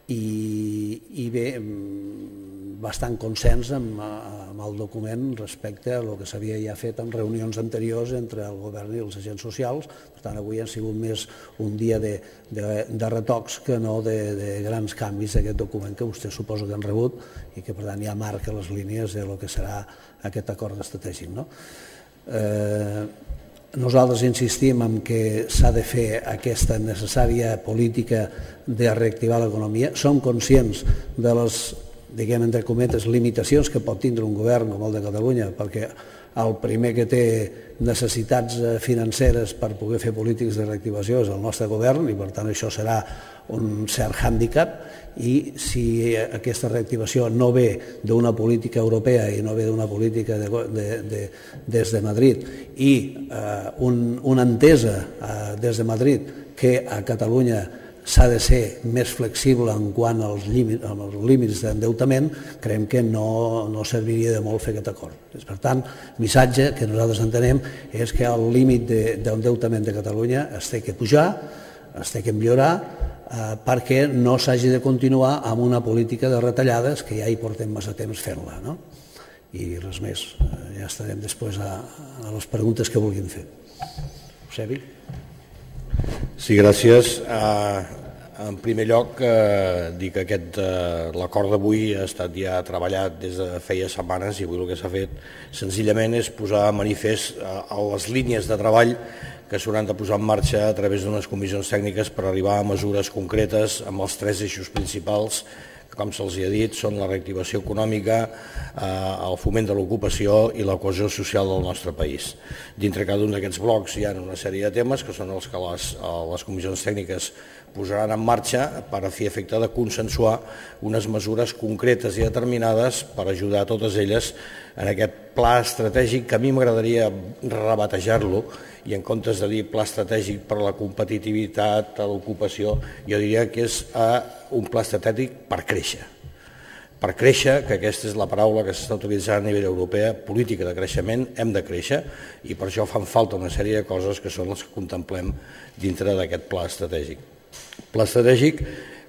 I bé, bastant consens amb el document respecte a el que s'havia ja fet en reunions anteriors entre el govern i els agents socials. Per tant, avui ha sigut més un dia de retocs que no de grans canvis d'aquest document que vostès suposo que han rebut i que per tant ja marca les línies del que serà aquest acord estratègic. Nosaltres insistim en que s'ha de fer aquesta necessària política de reactivar l'economia. Som conscients de les, diguem entre cometes, limitacions que pot tindre un govern com el de Catalunya, perquè el primer que té necessitats financeres per poder fer polítiques de reactivació és el nostre govern i per tant això serà un cert hàndicap, i si aquesta reactivació no ve d'una política europea i no ve d'una política des de Madrid i una entesa des de Madrid que a Catalunya s'ha de ser més flexible en quant als límits d'endeutament, creiem que no serviria de molt fer aquest acord. Per tant, el missatge que nosaltres entenem és que el límit d'endeutament de Catalunya es té que pujar, es té que millorar, perquè no s'hagi de continuar amb una política de retallades que ja hi portem massa temps fent-la. I res més, ja estarem després a les preguntes que vulguin fer. Eusebi? Sí, gràcies. En primer lloc, dir que l'acord d'avui ha estat ja treballat des de feia setmanes i avui el que s'ha fet senzillament és posar a manifest les línies de treball que s'hauran de posar en marxa a través d'unes comissions tècniques per arribar a mesures concretes amb els tres eixos principals que, com se'ls ha dit, són la reactivació econòmica, el foment de l'ocupació i la cohesió social del nostre país. Dintre cada un d'aquests blocs hi ha una sèrie de temes que són els que les comissions tècniques posaran en marxa per a fer efecte de consensuar unes mesures concretes i determinades per ajudar a totes elles en aquest pla estratègic, que a mi m'agradaria rebatejar-lo, i en comptes de dir pla estratègic per a la competitivitat, a l'ocupació, jo diria que és un pla estratègic per créixer. Per créixer, que aquesta és la paraula que s'està utilitzant a nivell europeu, política de creixement, hem de créixer, i per això fan falta una sèrie de coses que són les que contemplem dintre d'aquest pla estratègic. Pla estratègic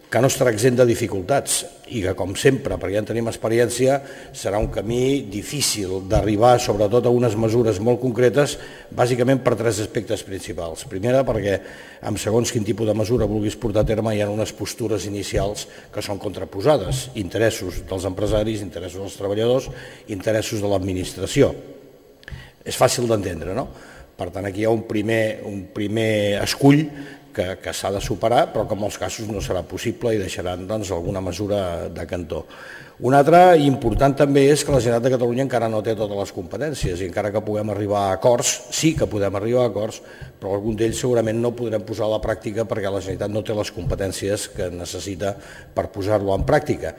que no estarà exempt de dificultats i que, com sempre, perquè ja en tenim experiència, serà un camí difícil d'arribar, sobretot a unes mesures molt concretes, bàsicament per tres aspectes principals. Primera, perquè amb segons quin tipus de mesura vulguis portar a terme hi ha unes postures inicials que són contraposades, interessos dels empresaris, interessos dels treballadors, interessos de l'administració. És fàcil d'entendre, no? Per tant, aquí hi ha un primer, un primer escull que, que s'ha de superar, però que en molts casos no serà possible i deixaran doncs, alguna mesura de cantó. Un altre important també és que la Generalitat de Catalunya encara no té totes les competències i encara que puguem arribar a acords, sí que podem arribar a acords, però algun d'ells segurament no podrem posar a la pràctica perquè la Generalitat no té les competències que necessita per posar-lo en pràctica.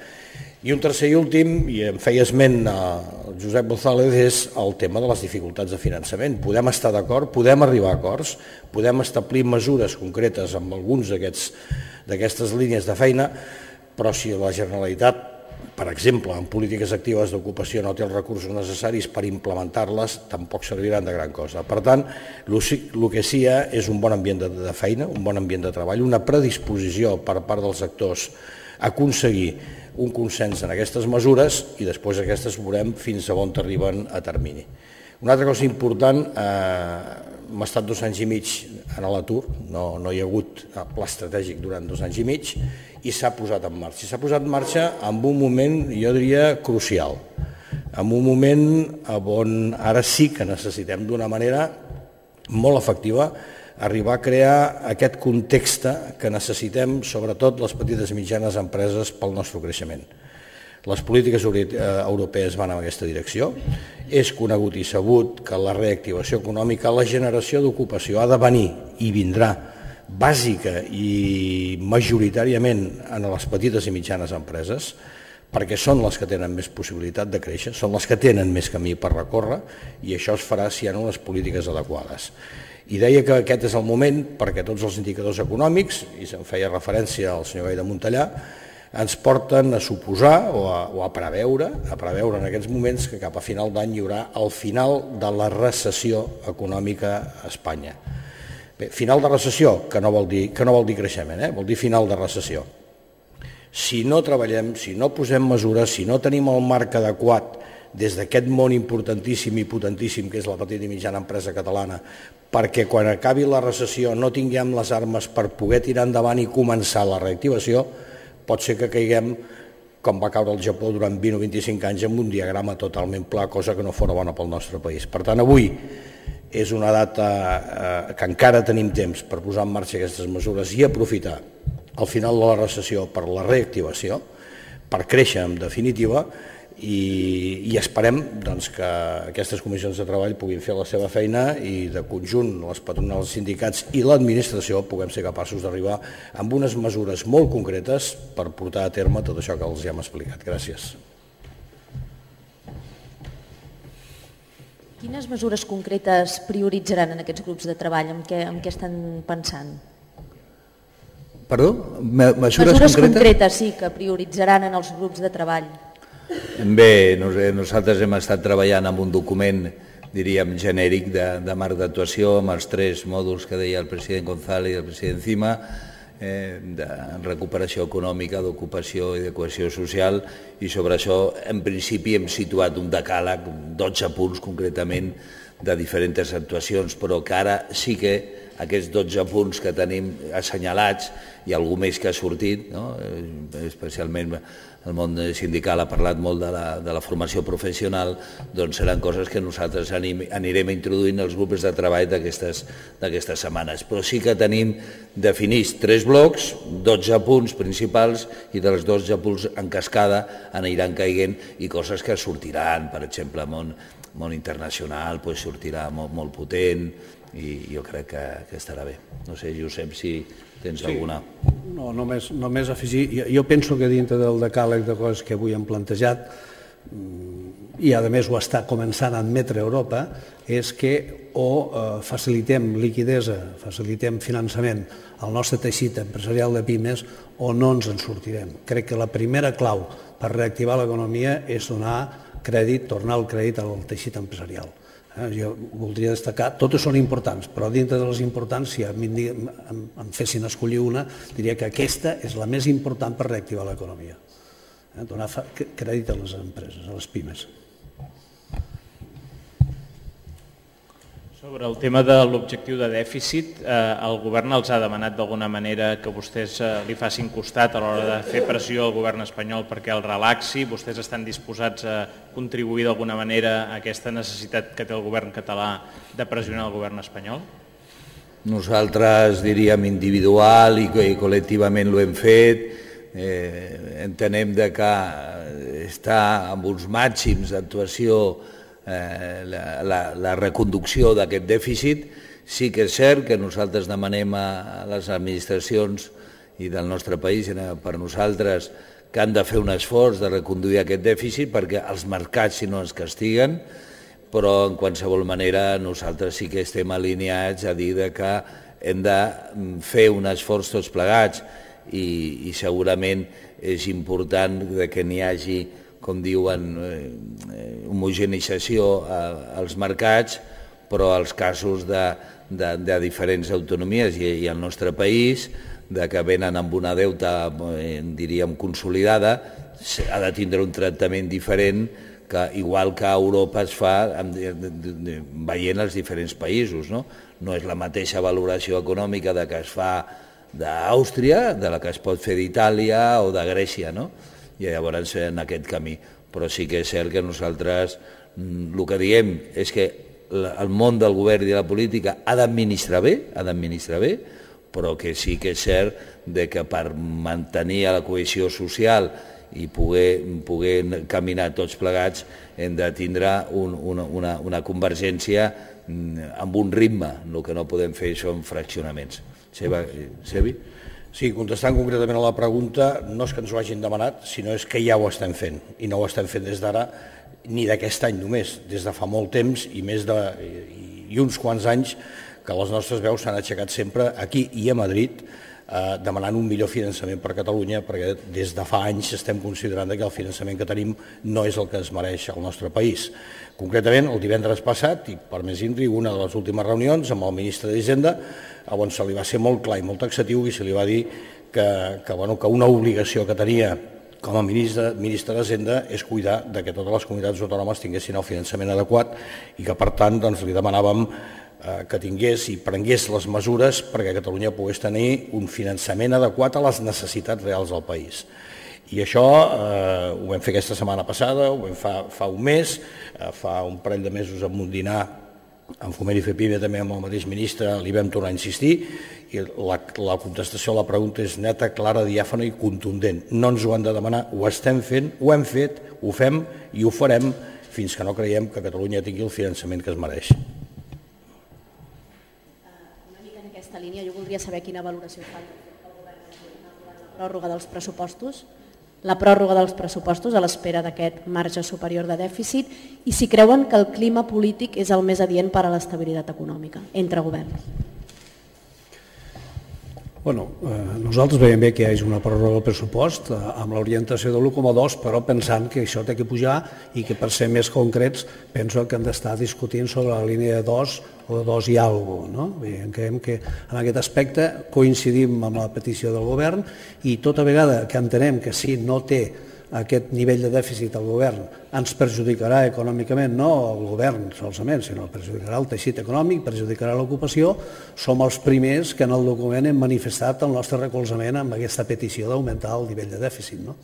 I un tercer i últim, i em feia esment el Josep González, és el tema de les dificultats de finançament. Podem estar d'acord, podem arribar a acords, podem establir mesures concretes amb alguns d'aquestes línies de feina, però si la Generalitat, per exemple, en polítiques actives d'ocupació no té els recursos necessaris per implementar-les, tampoc serviran de gran cosa. Per tant, el que sí hi ha és un bon ambient de feina, un bon ambient de treball, una predisposició per part dels actors a aconseguir un consens en aquestes mesures i després aquestes veurem fins a on arriben a termini. Una altra cosa important, hem estat dos anys i mig en l'atur, no hi ha hagut pla estratègic durant dos anys i mig i s'ha posat en marxa. S'ha posat en marxa en un moment, jo diria, crucial, en un moment on ara sí que necessitem d'una manera molt efectiva arribar a crear aquest context que necessitem, sobretot les petites i mitjanes empreses, pel nostre creixement. Les polítiques europees van en aquesta direcció. És conegut i sabut que la reactivació econòmica, la generació d'ocupació ha de venir i vindrà bàsica i majoritàriament en les petites i mitjanes empreses, perquè són les que tenen més possibilitat de créixer, són les que tenen més camí per recórrer i això es farà si hi ha unes polítiques adequades. I deia que aquest és el moment perquè tots els indicadors econòmics, i se'n feia referència al senyor Gai de Montellà, ens porten a suposar o a, o a preveure, a preveure en aquests moments que cap a final d'any hi haurà el final de la recessió econòmica a Espanya. Bé, final de recessió, que no vol dir, que no vol dir creixement, eh? Vol dir final de recessió. Si no treballem, si no posem mesures, si no tenim el marc adequat des d'aquest món importantíssim i potentíssim que és la petita i mitjana empresa catalana, perquè quan acabi la recessió no tinguem les armes per poder tirar endavant i començar la reactivació, pot ser que caiguem com va caure el Japó durant vint o vint-i-cinc anys amb un diagrama totalment pla, cosa que no fora bona pel nostre país. Per tant, avui és una data que encara tenim temps per posar en marxa aquestes mesures i aprofitar el final de la recessió per la reactivació, per créixer en definitiva, i esperem que aquestes comissions de treball puguin fer la seva feina i de conjunt les patronals, els sindicats i l'administració puguem ser capaços d'arribar amb unes mesures molt concretes per portar a terme tot això que els hem explicat. Gràcies. Quines mesures concretes prioritzaran en aquests grups de treball? En què, en què estan pensant? Perdó? Mesures, mesures concretes, sí, que prioritzaran en els grups de treball. Bé, nosaltres hem estat treballant amb un document, diríem, genèric de, de marc d'actuació amb els tres mòduls que deia el president González i el president Cima, eh, de recuperació econòmica, d'ocupació i de cohesió social, i sobre això, en principi, hem situat un decàleg, dotze punts concretament, de diferents actuacions, però que ara sí que aquests dotze punts que tenim assenyalats i algú més que ha sortit, no? Especialment el món sindical ha parlat molt de la, de la formació professional, doncs seran coses que nosaltres anirem introduint als grups de treball d'aquestes setmanes. Però sí que tenim definits tres blocs, dotze punts principals, i dels dotze punts en cascada aniran caiguent i coses que sortiran, per exemple, món, món internacional pues, sortirà molt, molt potent, i jo crec que, que estarà bé. No sé, Josep, si tens sí. alguna... No, només, només afegir, jo, jo penso que dintre del decàleg de coses que avui hem plantejat i a més ho està començant a admetre Europa, és que o facilitem liquidesa, facilitem finançament al nostre teixit empresarial de pimes o no ens en sortirem. Crec que la primera clau per reactivar l'economia és donar crèdit, tornar el crèdit al teixit empresarial. Jo voldria destacar, totes són importants, però dintre de les importants, si em fessin escollir una, diria que aquesta és la més important per reactivar l'economia. Donar crèdit a les empreses, a les pimes. Sobre el tema de l'objectiu de dèficit, el govern els ha demanat d'alguna manera que vostès li facin costat a l'hora de fer pressió al govern espanyol perquè el relaxi. Vostès estan disposats a contribuir d'alguna manera a aquesta necessitat que té el govern català de pressionar el govern espanyol? Nosaltres diríem individual i col·lectivament ho hem fet. Entenem que està amb uns màxims d'actuació La, la, la reconducció d'aquest dèficit. Sí que és cert que nosaltres demanem a les administracions i del nostre país, per nosaltres, que han de fer un esforç de reconduir aquest dèficit perquè els mercats si no ens castiguen, però en qualsevol manera nosaltres sí que estem alineats a dir que hem de fer un esforç tots plegats i, i segurament és important que n'hi hagi, com diuen, homogenització als mercats, però als casos de, de, de diferents autonomies i, i el nostre país, de que venen amb una deuta, diríem, consolidada, ha de tindre un tractament diferent que, igual que a Europa es fa veient els diferents països. No, no és la mateixa valoració econòmica de que es fa d'Àustria, de la que es pot fer d'Itàlia o de Grècia, no? I llavors en aquest camí. Però sí que és cert que nosaltres el que diem és que el món del govern i de la política ha d'administrar bé, ha d'administrar bé, però que sí que és cert que per mantenir la cohesió social i poder, poder caminar tots plegats hem de tindre un, una, una, una convergència amb un ritme. El que no podem fer són fraccionaments. Sebi? Sí, contestant concretament a la pregunta, no és que ens ho hagin demanat, sinó és que ja ho estem fent, i no ho estem fent des d'ara ni d'aquest any només, des de fa molt temps i més de i uns quants anys que les nostres veus s'han aixecat sempre aquí i a Madrid eh, demanant un millor finançament per Catalunya, perquè des de fa anys estem considerant que el finançament que tenim no és el que es mereix al nostre país. Concretament, el divendres passat, i per més intri, una de les últimes reunions amb el ministre d'Hisenda, on se li va ser molt clar i molt taxatiu i se li va dir que, que, bueno, que una obligació que tenia com a ministre, ministre d'Hisenda és cuidar de que totes les comunitats autònomes tinguessin el finançament adequat i que, per tant, doncs, li demanàvem eh, que tingués i prengués les mesures perquè Catalunya pogués tenir un finançament adequat a les necessitats reals del país. I això eh, ho vam fer aquesta setmana passada, ho vam fa, fa un mes, eh, fa un parell de mesos amb un dinar en Foment i FEPIME també amb el mateix ministre li vam tornar a insistir i la, la contestació a la pregunta és neta, clara, diàfana i contundent. No ens ho han de demanar, ho estem fent, ho hem fet, ho fem i ho farem fins que no creiem que Catalunya tingui el finançament que es mereix. Una mica en aquesta línia, jo voldria saber quina valoració fa el govern la pròrroga dels pressupostos, la pròrroga dels pressupostos a l'espera d'aquest marge superior de dèficit i si creuen que el clima polític és el més adient per a l'estabilitat econòmica entre governs. Bueno, eh, nosaltres veiem bé que hi hagi una pròrroga del pressupost eh, amb l'orientació de l'u coma dos, però pensant que això té que pujar i que per ser més concrets penso que hem d'estar discutint sobre la línia de dos o de dos i alguna cosa. No? Veiem que en aquest aspecte coincidim amb la petició del govern i tota vegada que entenem que si no té aquest nivell de dèficit al govern ens perjudicarà econòmicament, no el govern solament, sinó perjudicarà el teixit econòmic, perjudicarà l'ocupació, som els primers que en el document hem manifestat el nostre recolzament amb aquesta petició d'augmentar el nivell de dèficit. No?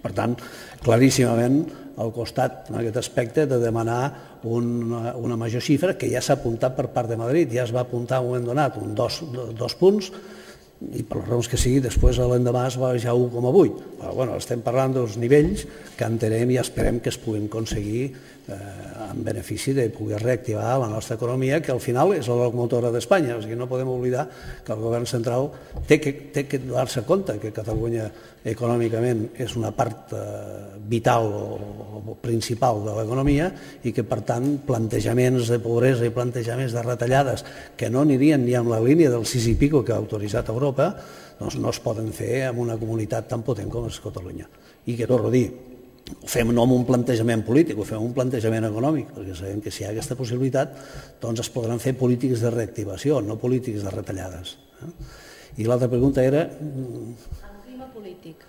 Per tant, claríssimament al costat en aquest aspecte de demanar una, una major xifra que ja s'ha apuntat per part de Madrid, ja es va apuntar en un moment donat un dos, dos punts i per les raons que sigui, després l'endemà es va baixar a un coma vuit. Però bueno, estem parlant dels nivells que entenem i esperem que es puguin aconseguir eh, en benefici de poder reactivar la nostra economia, que al final és la locomotora d'Espanya. O sigui, no podem oblidar que el govern central té que, té que donar-se compte que Catalunya econòmicament és una part eh, vital o, o principal de l'economia i que, per tant, plantejaments de pobresa i plantejaments de retallades que no anirien ni amb la línia del sis i pico que ha autoritzat Europa, doncs no es poden fer en una comunitat tan potent com és Catalunya. I que, torno a dir, ho fem no amb un plantejament polític, ho fem amb un plantejament econòmic, perquè sabem que si hi ha aquesta possibilitat, doncs es podran fer polítiques de reactivació, no polítiques de retallades. I l'altra pregunta era... El clima polític.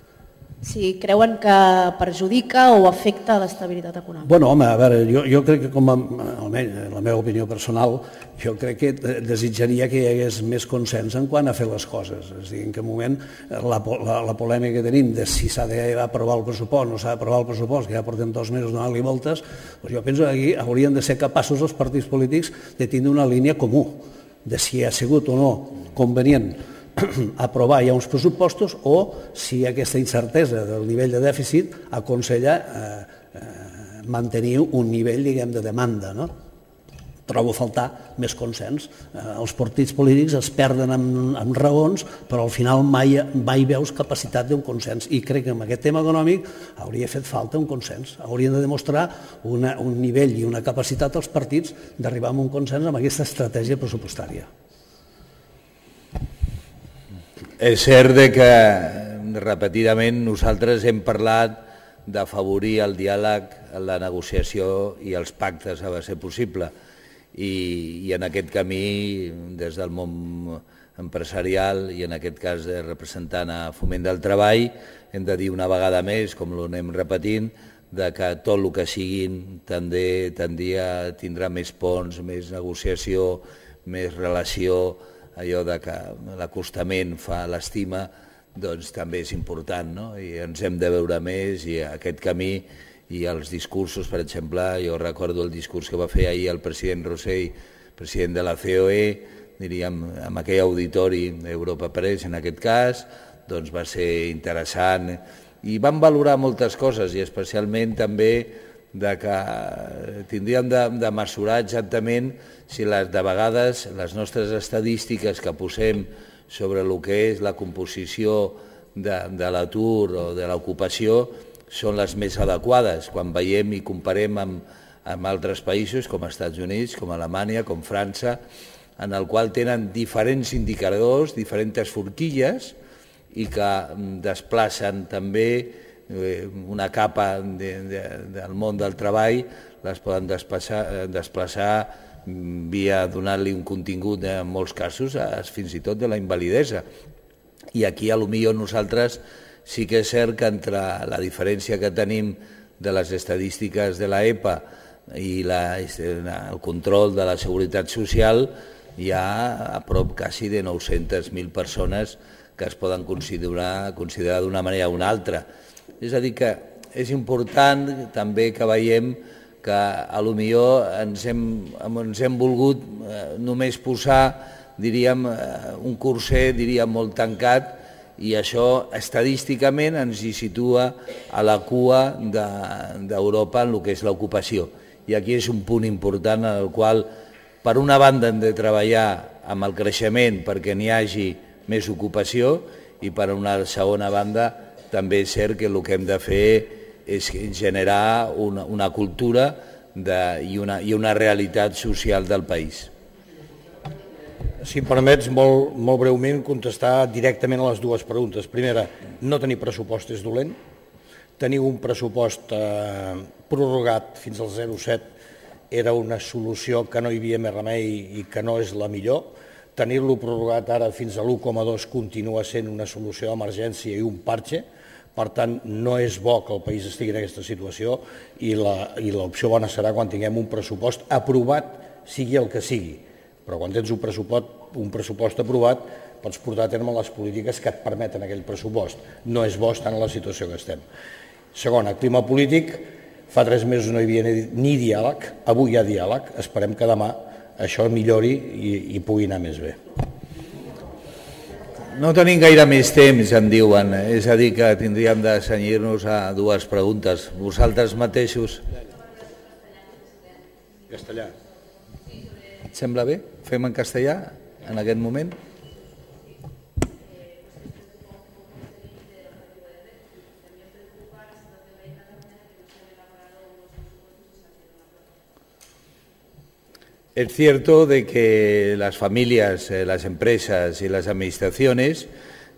Si creuen que perjudica o afecta l'estabilitat econòmica. Bueno, home, a veure, jo, jo crec que, com a, almenys la meva opinió personal, jo crec que desitjaria que hi hagués més consens en quant a fer les coses. És a dir, en què moment la, la, la polèmica que tenim de si s'ha d'aprovar el pressupost o no s'ha d'aprovar el pressupost, que ja portem dos mesos donant-li voltes, doncs jo penso que aquí haurien de ser capaços els partits polítics de tindre una línia comú, de si ha sigut o no convenient aprovar ja uns pressupostos o si aquesta incertesa del nivell de dèficit aconsella eh, eh, mantenir un nivell, diguem, de demanda, no? Trobo a faltar més consens. Eh, els partits polítics es perden amb, amb raons, però al final mai, mai veus capacitat d'un consens. I crec que en aquest tema econòmic hauria fet falta un consens. Haurien de demostrar una, un nivell i una capacitat als partits d'arribar a un consens amb aquesta estratègia pressupostària. És cert que repetidament nosaltres hem parlat d'afavorir el diàleg, la negociació i els pactes a ser possible. I, i en aquest camí, des del món empresarial i en aquest cas representant a Foment del Treball, hem de dir una vegada més, com ho anem repetint, de que tot el que siguin també tindria, tindrà més ponts, més negociació, més relació, allò de que l'acostament fa l'estima, doncs també és important, no? I ens hem de veure més i aquest camí i els discursos, per exemple, jo recordo el discurs que va fer ahir el president Rosell, president de la C O E, diríem, amb aquell auditori Europa Press, en aquest cas, doncs va ser interessant i van valorar moltes coses i especialment també de que tindríem de, de mesurar exactament si les, de vegades les nostres estadístiques que posem sobre el que és la composició de, de l'atur o de l'ocupació són les més adequades quan veiem i comparem amb, amb altres països com els Estats Units, com Alemanya, com França, en el qual tenen diferents indicadors, diferents forquilles i que desplacen també una capa de, de, del món del treball, les poden desplaçar, desplaçar via donar-li un contingut en molts casos fins i tot de la invalidesa. I aquí potser nosaltres sí que és cert que entre la diferència que tenim de les estadístiques de la E P A i la, el control de la seguretat social hi ha a prop quasi de nou-centes mil persones que es poden considerar, considerar d'una manera o una altra. És a dir que és important també que veiem que potser ens hem, ens hem volgut només posar, diríem, un curset, diríem, molt tancat i això estadísticament ens hi situa a la cua d'Europa en el que és l'ocupació. I aquí és un punt important en el qual, per una banda, hem de treballar amb el creixement perquè n'hi hagi més ocupació i per una segona banda també és cert que el que hem de fer és generar una, una cultura de, i, una, i una realitat social del país. Si em permets, molt, molt breument, contestar directament a les dues preguntes. Primera, no tenir pressupost és dolent. Tenir un pressupost eh, prorrogat fins al zero coma set era una solució que no hi havia més remei i que no és la millor. Tenir-lo prorrogat ara fins a l'u coma dos continua sent una solució d'emergència i un parche. Per tant, no és bo que el país estigui en aquesta situació i l'opció bona serà quan tinguem un pressupost aprovat, sigui el que sigui. Però quan tens un pressupost, un pressupost aprovat, pots portar a terme les polítiques que et permeten aquell pressupost. No és bo estar en la situació que estem. Segona, clima polític. Fa tres mesos no hi havia ni diàleg, avui hi ha diàleg. Esperem que demà això millori i, i pugui anar més bé. no tenim gaire més temps, em diuen. És a dir, que tindríem de cenyir-nos a dues preguntes. Vosaltres mateixos... Castellà. Et sembla bé? Fem en castellà en aquest moment? Es cierto de que las familias, eh, las empresas y las administraciones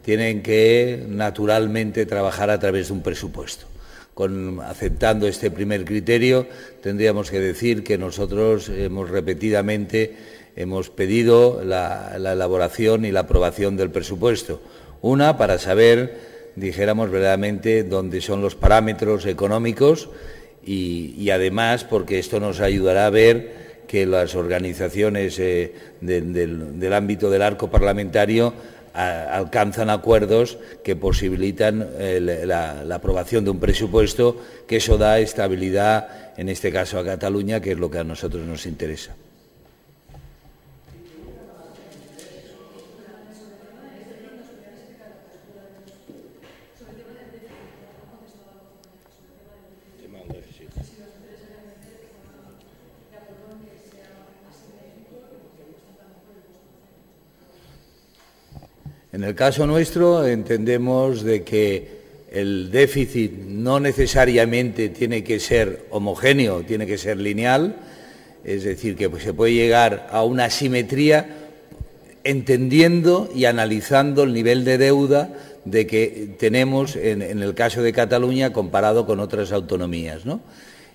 tienen que naturalmente trabajar a través de un presupuesto. Con, aceptando este primer criterio, tendríamos que decir que nosotros hemos repetidamente hemos pedido la, la elaboración y la aprobación del presupuesto. Una, para saber, dijéramos verdaderamente, dónde son los parámetros económicos y, y además porque esto nos ayudará a ver que las organizaciones eh, de, del, del ámbito del arco parlamentario a, alcanzan acuerdos que posibilitan eh, la, la aprobación de un presupuesto, que eso da estabilidad, en este caso a Cataluña, que es lo que a nosotros nos interesa. En el caso nuestro entendemos de que el déficit no necesariamente tiene que ser homogéneo, tiene que ser lineal, es decir, que se puede llegar a una simetría entendiendo y analizando el nivel de deuda de que tenemos en, en el caso de Cataluña comparado con otras autonomías, ¿no?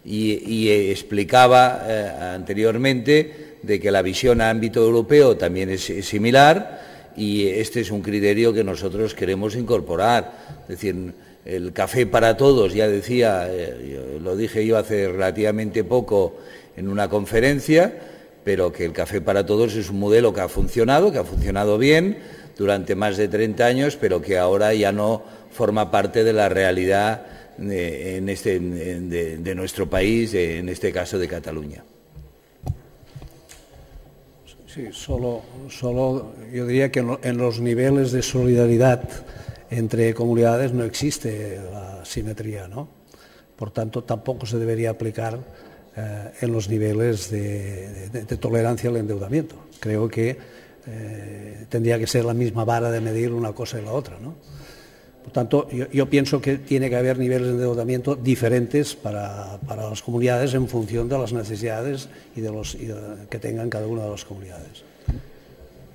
Y, y explicaba eh, anteriormente de que la visión a ámbito europeo también es, es similar. Y este es un criterio que nosotros queremos incorporar. Es decir, el café para todos, ya decía, eh, lo dije yo hace relativamente poco en una conferencia, pero que el café para todos es un modelo que ha funcionado, que ha funcionado bien durante más de treinta años, pero que ahora ya no forma parte de la realidad de, en este, de, de nuestro país, de, en este caso de Cataluña. Sí, solo, solo yo diría que en los niveles de solidaridad entre comunidades no existe la simetría, ¿no? Por tanto, tampoco se debería aplicar eh, en los niveles de, de, de tolerancia al endeudamiento. Creo que eh, tendría que ser la misma vara de medir una cosa y la otra, ¿no? Por tanto, yo, yo pienso que tiene que haber niveles de endeudamiento diferentes para, para las comunidades en función de las necesidades y de los, y de, que tengan cada una de las comunidades.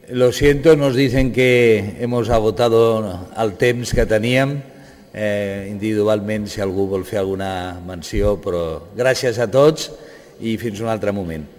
Lo siento, nos dicen que hemos agotado el temps que teníem. Eh, individualment, si algú vol fer alguna menció, però gràcies a tots i fins un altre moment.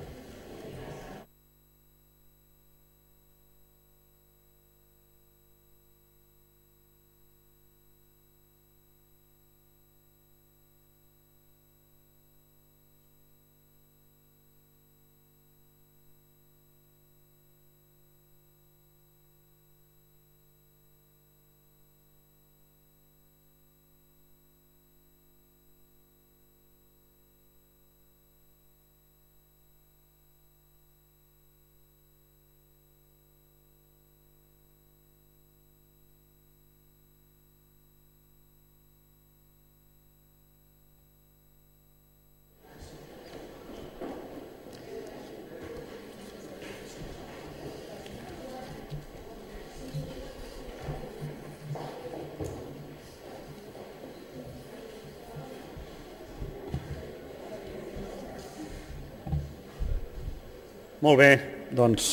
Molt bé, doncs,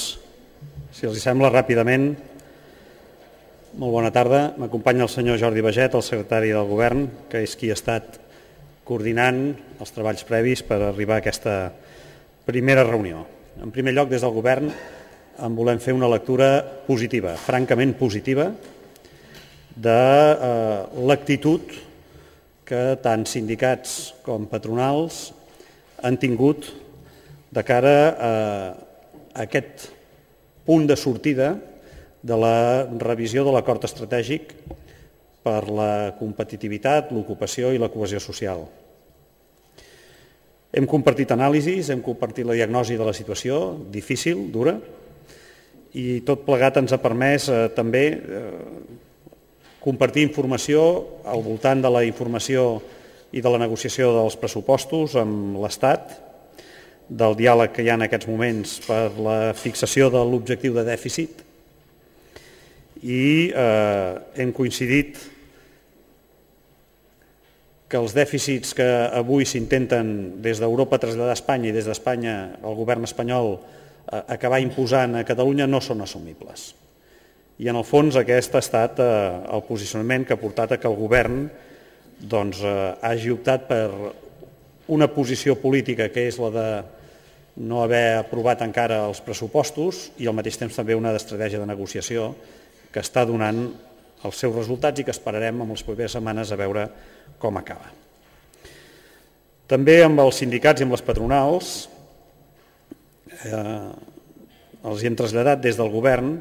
si els sembla, ràpidament. Molt bona tarda. M'acompanya el senyor Jordi Baget, el secretari del Govern, que és qui ha estat coordinant els treballs previs per arribar a aquesta primera reunió. En primer lloc, des del Govern, en volem fer una lectura positiva, francament positiva, de eh, l'actitud que tant sindicats com patronals han tingut de cara a aquest punt de sortida de la revisió de l'acord estratègic per la competitivitat, l'ocupació i la cohesió social. Hem compartit anàlisis, hem compartit la diagnosi de la situació, difícil, dura, i tot plegat ens ha permès eh, també eh, compartir informació al voltant de la informació i de la negociació dels pressupostos amb l'Estat, del diàleg que hi ha en aquests moments per la fixació de l'objectiu de dèficit i eh, hem coincidit que els dèficits que avui s'intenten des d'Europa traslladar a Espanya i des d'Espanya el govern espanyol eh, acabar imposant a Catalunya no són assumibles. I en el fons aquest ha estat eh, el posicionament que ha portat a que el govern doncs, eh, hagi optat per una posició política que és la de no haver aprovat encara els pressupostos i al mateix temps també una estratègia de negociació que està donant els seus resultats i que esperarem en les properes setmanes a veure com acaba. També amb els sindicats i amb les patronals eh, els hi hem traslladat des del govern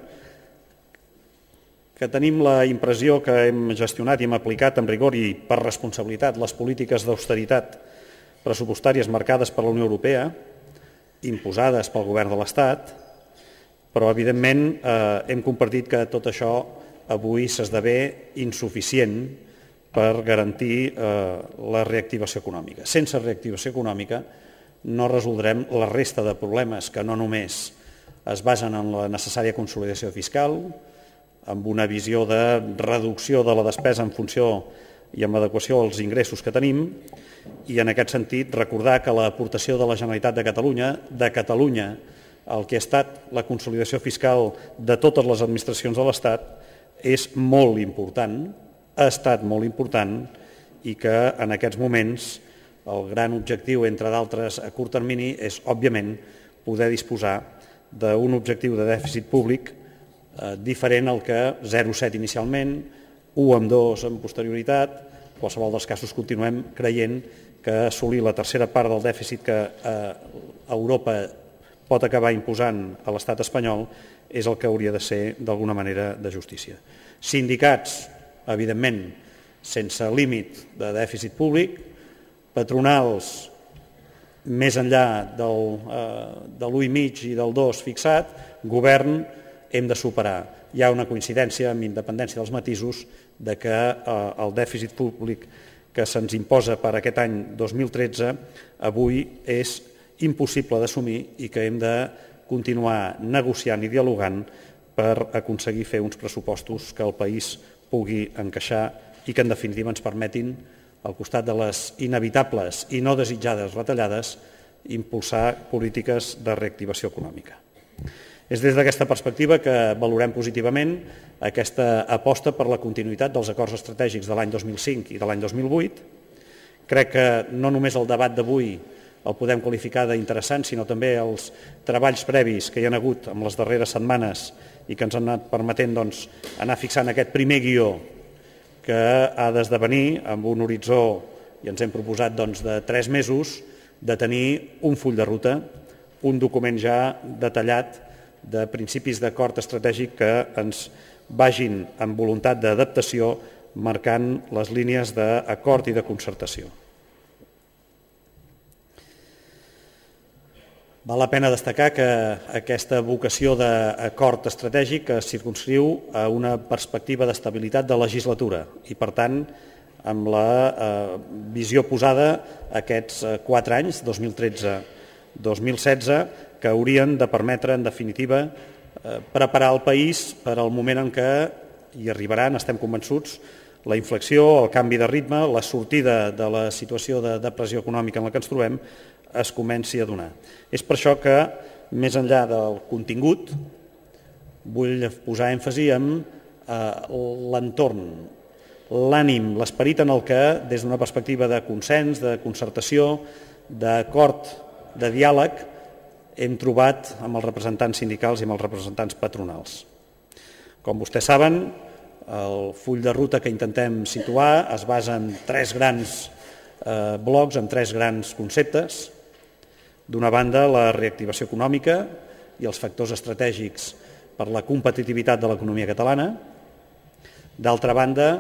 que tenim la impressió que hem gestionat i hem aplicat amb rigor i per responsabilitat les polítiques d'austeritat pressupostàries marcades per la Unió Europea, imposades pel govern de l'Estat, però evidentment eh, hem compartit que tot això avui s'esdevé insuficient per garantir eh, la reactivació econòmica. Sense reactivació econòmica no resoldrem la resta de problemes que no només es basen en la necessària consolidació fiscal, amb una visió de reducció de la despesa en funció i amb adequació als ingressos que tenim, i en aquest sentit recordar que l'aportació de la Generalitat de Catalunya, de Catalunya, el que ha estat la consolidació fiscal de totes les administracions de l'Estat, és molt important, ha estat molt important i que en aquests moments el gran objectiu, entre d'altres a curt termini, és òbviament poder disposar d'un objectiu de dèficit públic eh, diferent al que zero coma set inicialment, u coma dos amb posterioritat. En qualsevol dels casos continuem creient que assolir la tercera part del dèficit que eh, Europa pot acabar imposant a l'estat espanyol és el que hauria de ser d'alguna manera de justícia. Sindicats, evidentment, sense límit de dèficit públic, patronals més enllà del, eh, de l'u coma cinc i del dos fixat, govern hem de superar. Hi ha una coincidència amb independència dels matisos de que eh, el dèficit públic que se'ns imposa per aquest any dos mil tretze avui és impossible d'assumir i que hem de continuar negociant i dialogant per aconseguir fer uns pressupostos que el país pugui encaixar i que en definitiva ens permetin, al costat de les inevitables i no desitjades retallades, impulsar polítiques de reactivació econòmica. És des d'aquesta perspectiva que valorem positivament aquesta aposta per la continuïtat dels acords estratègics de l'any dos mil cinc i de l'any dos mil vuit. Crec que no només el debat d'avui el podem qualificar d'interessant, sinó també els treballs previs que hi ha hagut en les darreres setmanes i que ens han anat permetent doncs, anar fixant aquest primer guió que ha d'esdevenir amb un horitzó, i ens hem proposat doncs, de tres mesos, de tenir un full de ruta, un document ja detallat de principis d'acord estratègic que ens vagin amb voluntat d'adaptació marcant les línies d'acord i de concertació. Val la pena destacar que aquesta vocació d'acord estratègic es circumscriu a una perspectiva d'estabilitat de legislatura i, per tant, amb la eh, visió posada aquests quatre anys, dos mil tretze dos mil setze, que haurien de permetre, en definitiva, eh, preparar el país per al moment en què hi arribaran, estem convençuts, la inflexió, el canvi de ritme, la sortida de la situació de depressió econòmica en la que ens trobem, es comenci a donar. És per això que, més enllà del contingut, vull posar èmfasi en eh, l'entorn, l'ànim, l'esperit en el que, des d'una perspectiva de consens, de concertació, d'acord, de diàleg, hem trobat amb els representants sindicals i amb els representants patronals. Com vostès saben, el full de ruta que intentem situar es basa en tres grans eh, blocs, en tres grans conceptes. D'una banda, la reactivació econòmica i els factors estratègics per la competitivitat de l'economia catalana. D'altra banda,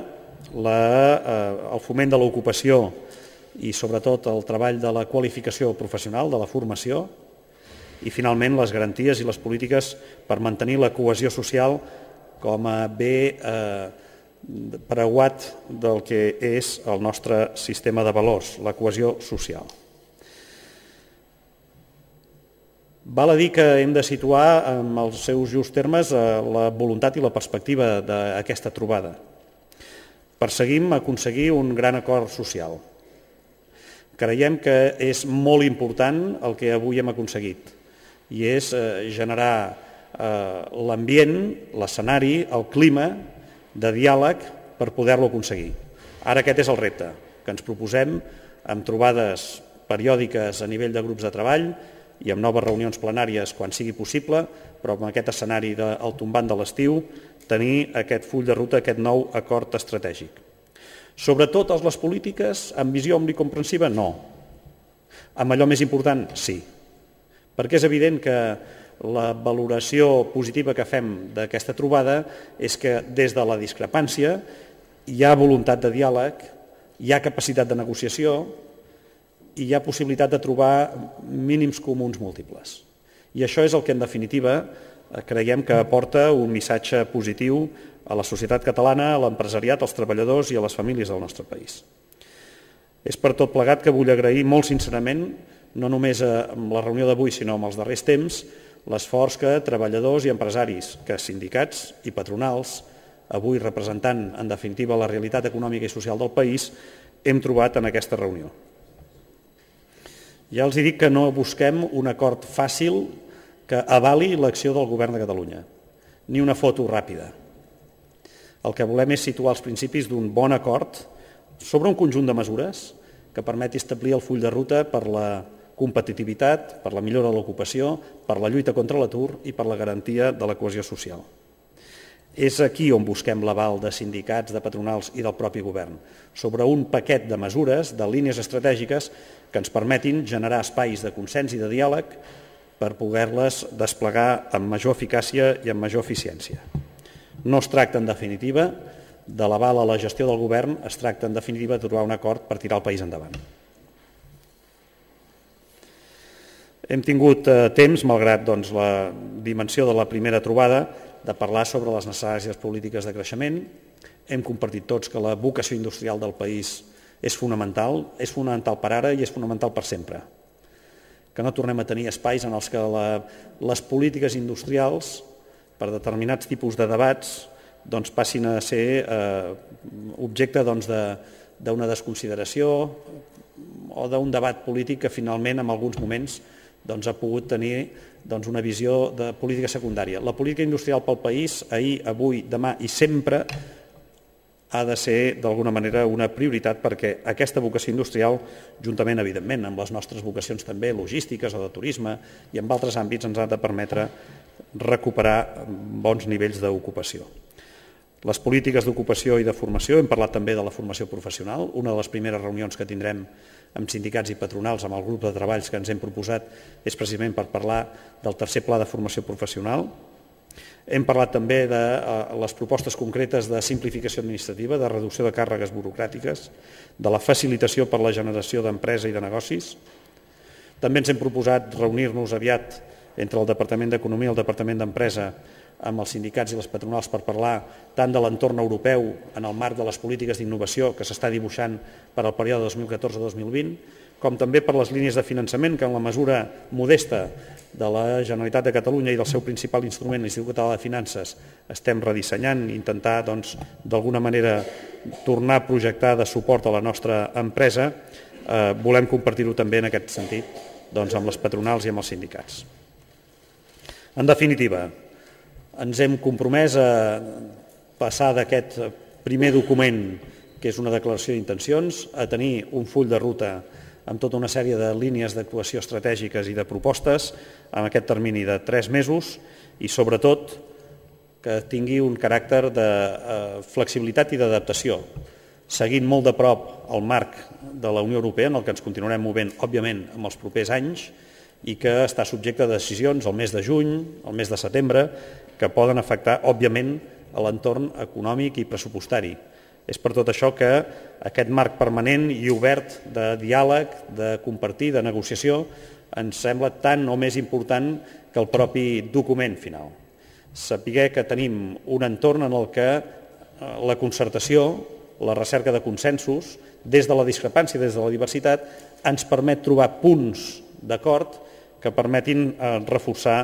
la, eh, el foment de l'ocupació i sobretot el treball de la qualificació professional, de la formació. i, finalment, les garanties i les polítiques per mantenir la cohesió social com a bé eh, preuat del que és el nostre sistema de valors, la cohesió social. Val a dir que hem de situar en els seus just termes la voluntat i la perspectiva d'aquesta trobada. Perseguim aconseguir un gran acord social. Creiem que és molt important el que avui hem aconseguit i és generar l'ambient, l'escenari, el clima de diàleg per poder-lo aconseguir. Ara aquest és el repte que ens proposem amb trobades periòdiques a nivell de grups de treball i amb noves reunions plenàries quan sigui possible, però amb aquest escenari del tombant de l'estiu, tenir aquest full de ruta, aquest nou acord estratègic. Sobretot les polítiques amb visió omnicomprensiva, no. Amb allò més important, sí. Perquè és evident que la valoració positiva que fem d'aquesta trobada és que des de la discrepància hi ha voluntat de diàleg, hi ha capacitat de negociació i hi ha possibilitat de trobar mínims comuns múltiples. I això és el que, en definitiva, creiem que aporta un missatge positiu a la societat catalana, a l'empresariat, als treballadors i a les famílies del nostre país. És per tot plegat que vull agrair molt sincerament, no només amb la reunió d'avui, sinó amb els darrers temps, l'esforç que treballadors i empresaris, que sindicats i patronals, avui representant, en definitiva, la realitat econòmica i social del país, hem trobat en aquesta reunió. Ja els dic que no busquem un acord fàcil que avali l'acció del Govern de Catalunya, ni una foto ràpida. El que volem és situar els principis d'un bon acord sobre un conjunt de mesures que permeti establir el full de ruta per la competitivitat, per la millora de l'ocupació, per la lluita contra l'atur i per la garantia de la cohesió social. És aquí on busquem l'aval de sindicats, de patronals i del propi govern, sobre un paquet de mesures, de línies estratègiques que ens permetin generar espais de consens i de diàleg per poder-les desplegar amb major eficàcia i amb major eficiència. No es tracta, en definitiva, de l'aval a la gestió del govern, es tracta, en definitiva, de trobar un acord per tirar el país endavant. Hem tingut temps, malgrat la dimensió de la primera trobada, de parlar sobre les necessàries polítiques de creixement. Hem compartit tots que la vocació industrial del país és fonamental, és fonamental per ara i és fonamental per sempre. Que no tornem a tenir espais en els que les polítiques industrials, per determinats tipus de debats, passin a ser objecte d'una desconsideració o d'un debat polític que finalment en alguns moments ha pogut tenir una visió de política secundària. La política industrial pel país, ahir, avui, demà i sempre, ha de ser d'alguna manera una prioritat perquè aquesta vocació industrial, juntament, evidentment, amb les nostres vocacions també logístiques o de turisme i en altres àmbits, ens ha de permetre recuperar bons nivells d'ocupació. Les polítiques d'ocupació i de formació, hem parlat també de la formació professional, una de les primeres reunions que tindrem amb sindicats i patronals, amb el grup de treballs que ens hem proposat, és precisament per parlar del tercer pla de formació professional. Hem parlat també de les propostes concretes de simplificació administrativa, de reducció de càrregues burocràtiques, de la facilitació per la generació d'empresa i de negocis. També ens hem proposat reunir-nos aviat entre el Departament d'Economia i el Departament d'Empresa amb els sindicats i les patronals per parlar tant de l'entorn europeu en el marc de les polítiques d'innovació que s'està dibuixant per al període dos mil catorze dos mil vint, com també per les línies de finançament que en la mesura modesta de la Generalitat de Catalunya i del seu principal instrument, l'Institut Català de Finances, estem redissenyant i intentar d'alguna manera tornar a projectar de suport a la nostra empresa. Volem compartir-ho també en aquest sentit amb les patronals i amb els sindicats. En definitiva, ens hem compromès a passar d'aquest primer document, que és una declaració d'intencions, a tenir un full de ruta amb tota una sèrie de línies d'actuació estratègiques i de propostes en aquest termini de tres mesos i, sobretot, que tingui un caràcter de flexibilitat i d'adaptació, seguint molt de prop el marc de la Unió Europea, en el que ens continuarem movent, òbviament, en els propers anys, i que està subjecte de decisions el mes de juny, el mes de setembre, que poden afectar, òbviament, a l'entorn econòmic i pressupostari. És per tot això que aquest marc permanent i obert de diàleg, de compartir, de negociació, ens sembla tan o més important que el propi document final. Saber que tenim un entorn en el que la concertació, la recerca de consensos, des de la discrepància, des de la diversitat, ens permet trobar punts d'acord que permetin reforçar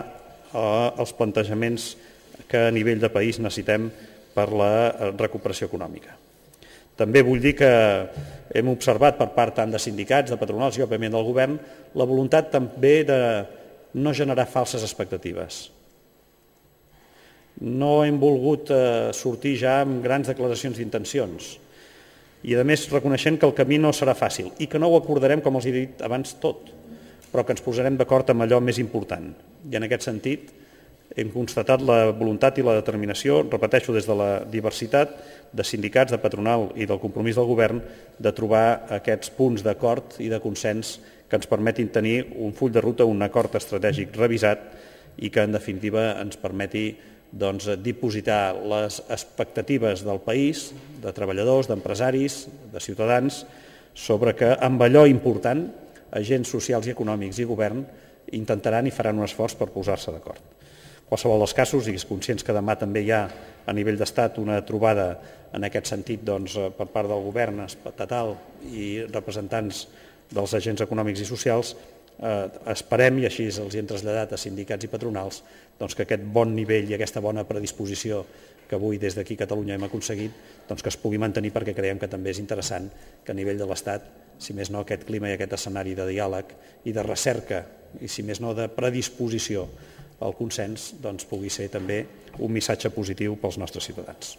els plantejaments que a nivell de país necessitem per la recuperació econòmica. També vull dir que hem observat per part tant de sindicats, de patronals i òbviament del govern la voluntat també de no generar falses expectatives. No hem volgut sortir ja amb grans declaracions d'intencions i a més reconeixent que el camí no serà fàcil i que no ho acordarem, com els he dit abans, tot, però que ens posarem d'acord amb allò més important. I en aquest sentit hem constatat la voluntat i la determinació, repeteixo, des de la diversitat de sindicats, de patronal i del compromís del govern de trobar aquests punts d'acord i de consens que ens permetin tenir un full de ruta, un acord estratègic revisat i que en definitiva ens permeti doncs, dipositar les expectatives del país, de treballadors, d'empresaris, de ciutadans, sobre que amb allò important agents socials i econòmics i govern intentaran i faran un esforç per posar-se d'acord. En qualsevol dels casos, siguis conscients que demà també hi ha a nivell d'estat una trobada en aquest sentit doncs, per part del govern estatal i representants dels agents econòmics i socials, eh, esperem, i així els hi hem traslladat a sindicats i patronals, doncs, que aquest bon nivell i aquesta bona predisposició que avui des d'aquí a Catalunya hem aconseguit doncs, que es pugui mantenir perquè creiem que també és interessant que a nivell de l'Estat, si més no, aquest clima i aquest escenari de diàleg i de recerca i si més no de predisposició al consens doncs, pugui ser també un missatge positiu pels nostres ciutadans.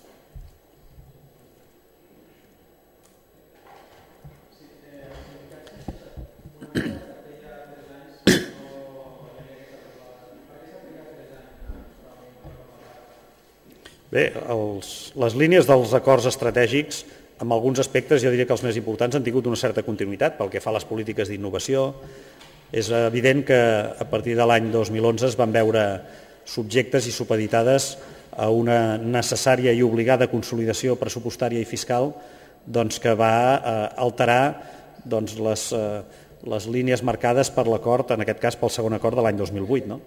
Bé, els, les línies dels acords estratègics, en alguns aspectes, jo diria que els més importants han tingut una certa continuïtat pel que fa a les polítiques d'innovació. És evident que a partir de l'any dos mil onze es van veure subjectes i supeditades a una necessària i obligada consolidació pressupostària i fiscal doncs, que va eh, alterar doncs, les, eh, les línies marcades per l'acord, en aquest cas pel segon acord de l'any dos mil vuit. No?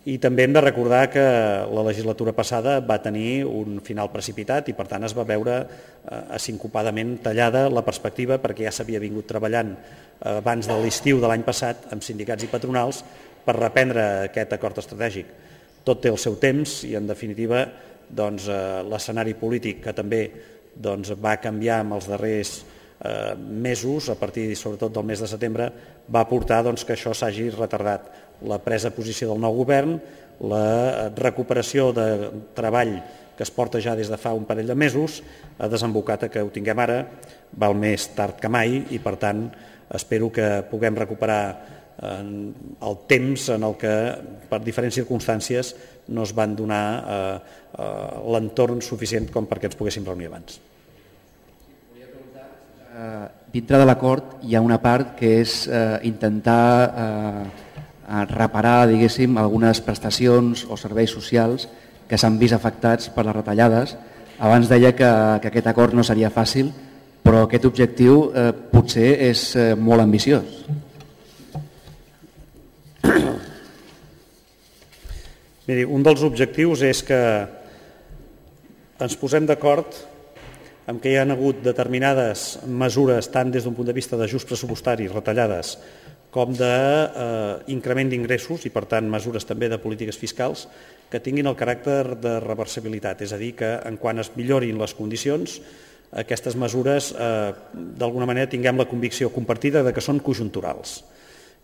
I també hem de recordar que la legislatura passada va tenir un final precipitat i per tant es va veure eh, sincopadament tallada la perspectiva perquè ja s'havia vingut treballant eh, abans de l'estiu de l'any passat amb sindicats i patronals per reprendre aquest acord estratègic. Tot té el seu temps i en definitiva doncs, eh, l'escenari polític que també doncs, va canviar en els darrers eh, mesos, a partir sobretot del mes de setembre, va portar doncs, que això s'hagi retardat. La presa de posició del nou govern, la recuperació de treball que es porta ja des de fa un parell de mesos, ha desembocat a que ho tinguem ara, val més tard que mai i per tant espero que puguem recuperar el temps en el que per diferents circumstàncies no es van donar eh, eh, l'entorn suficient com perquè ens poguéssim reunir abans. Uh, dintre de l'acord hi ha una part que és uh, intentar uh, reparar, diguéssim, algunes prestacions o serveis socials que s'han vist afectats per les retallades. Abans deia que, que aquest acord no seria fàcil, però aquest objectiu eh, potser és eh, molt ambiciós. Miri, un dels objectius és que ens posem d'acord en què hi ha hagut determinades mesures, tant des d'un punt de vista d'ajust pressupostari, retallades, com d'increment d'ingressos i, per tant, mesures també de polítiques fiscals que tinguin el caràcter de reversibilitat, és a dir, que en quan es millorin les condicions, aquestes mesures, eh, d'alguna manera, tinguem la convicció compartida de que són conjunturals.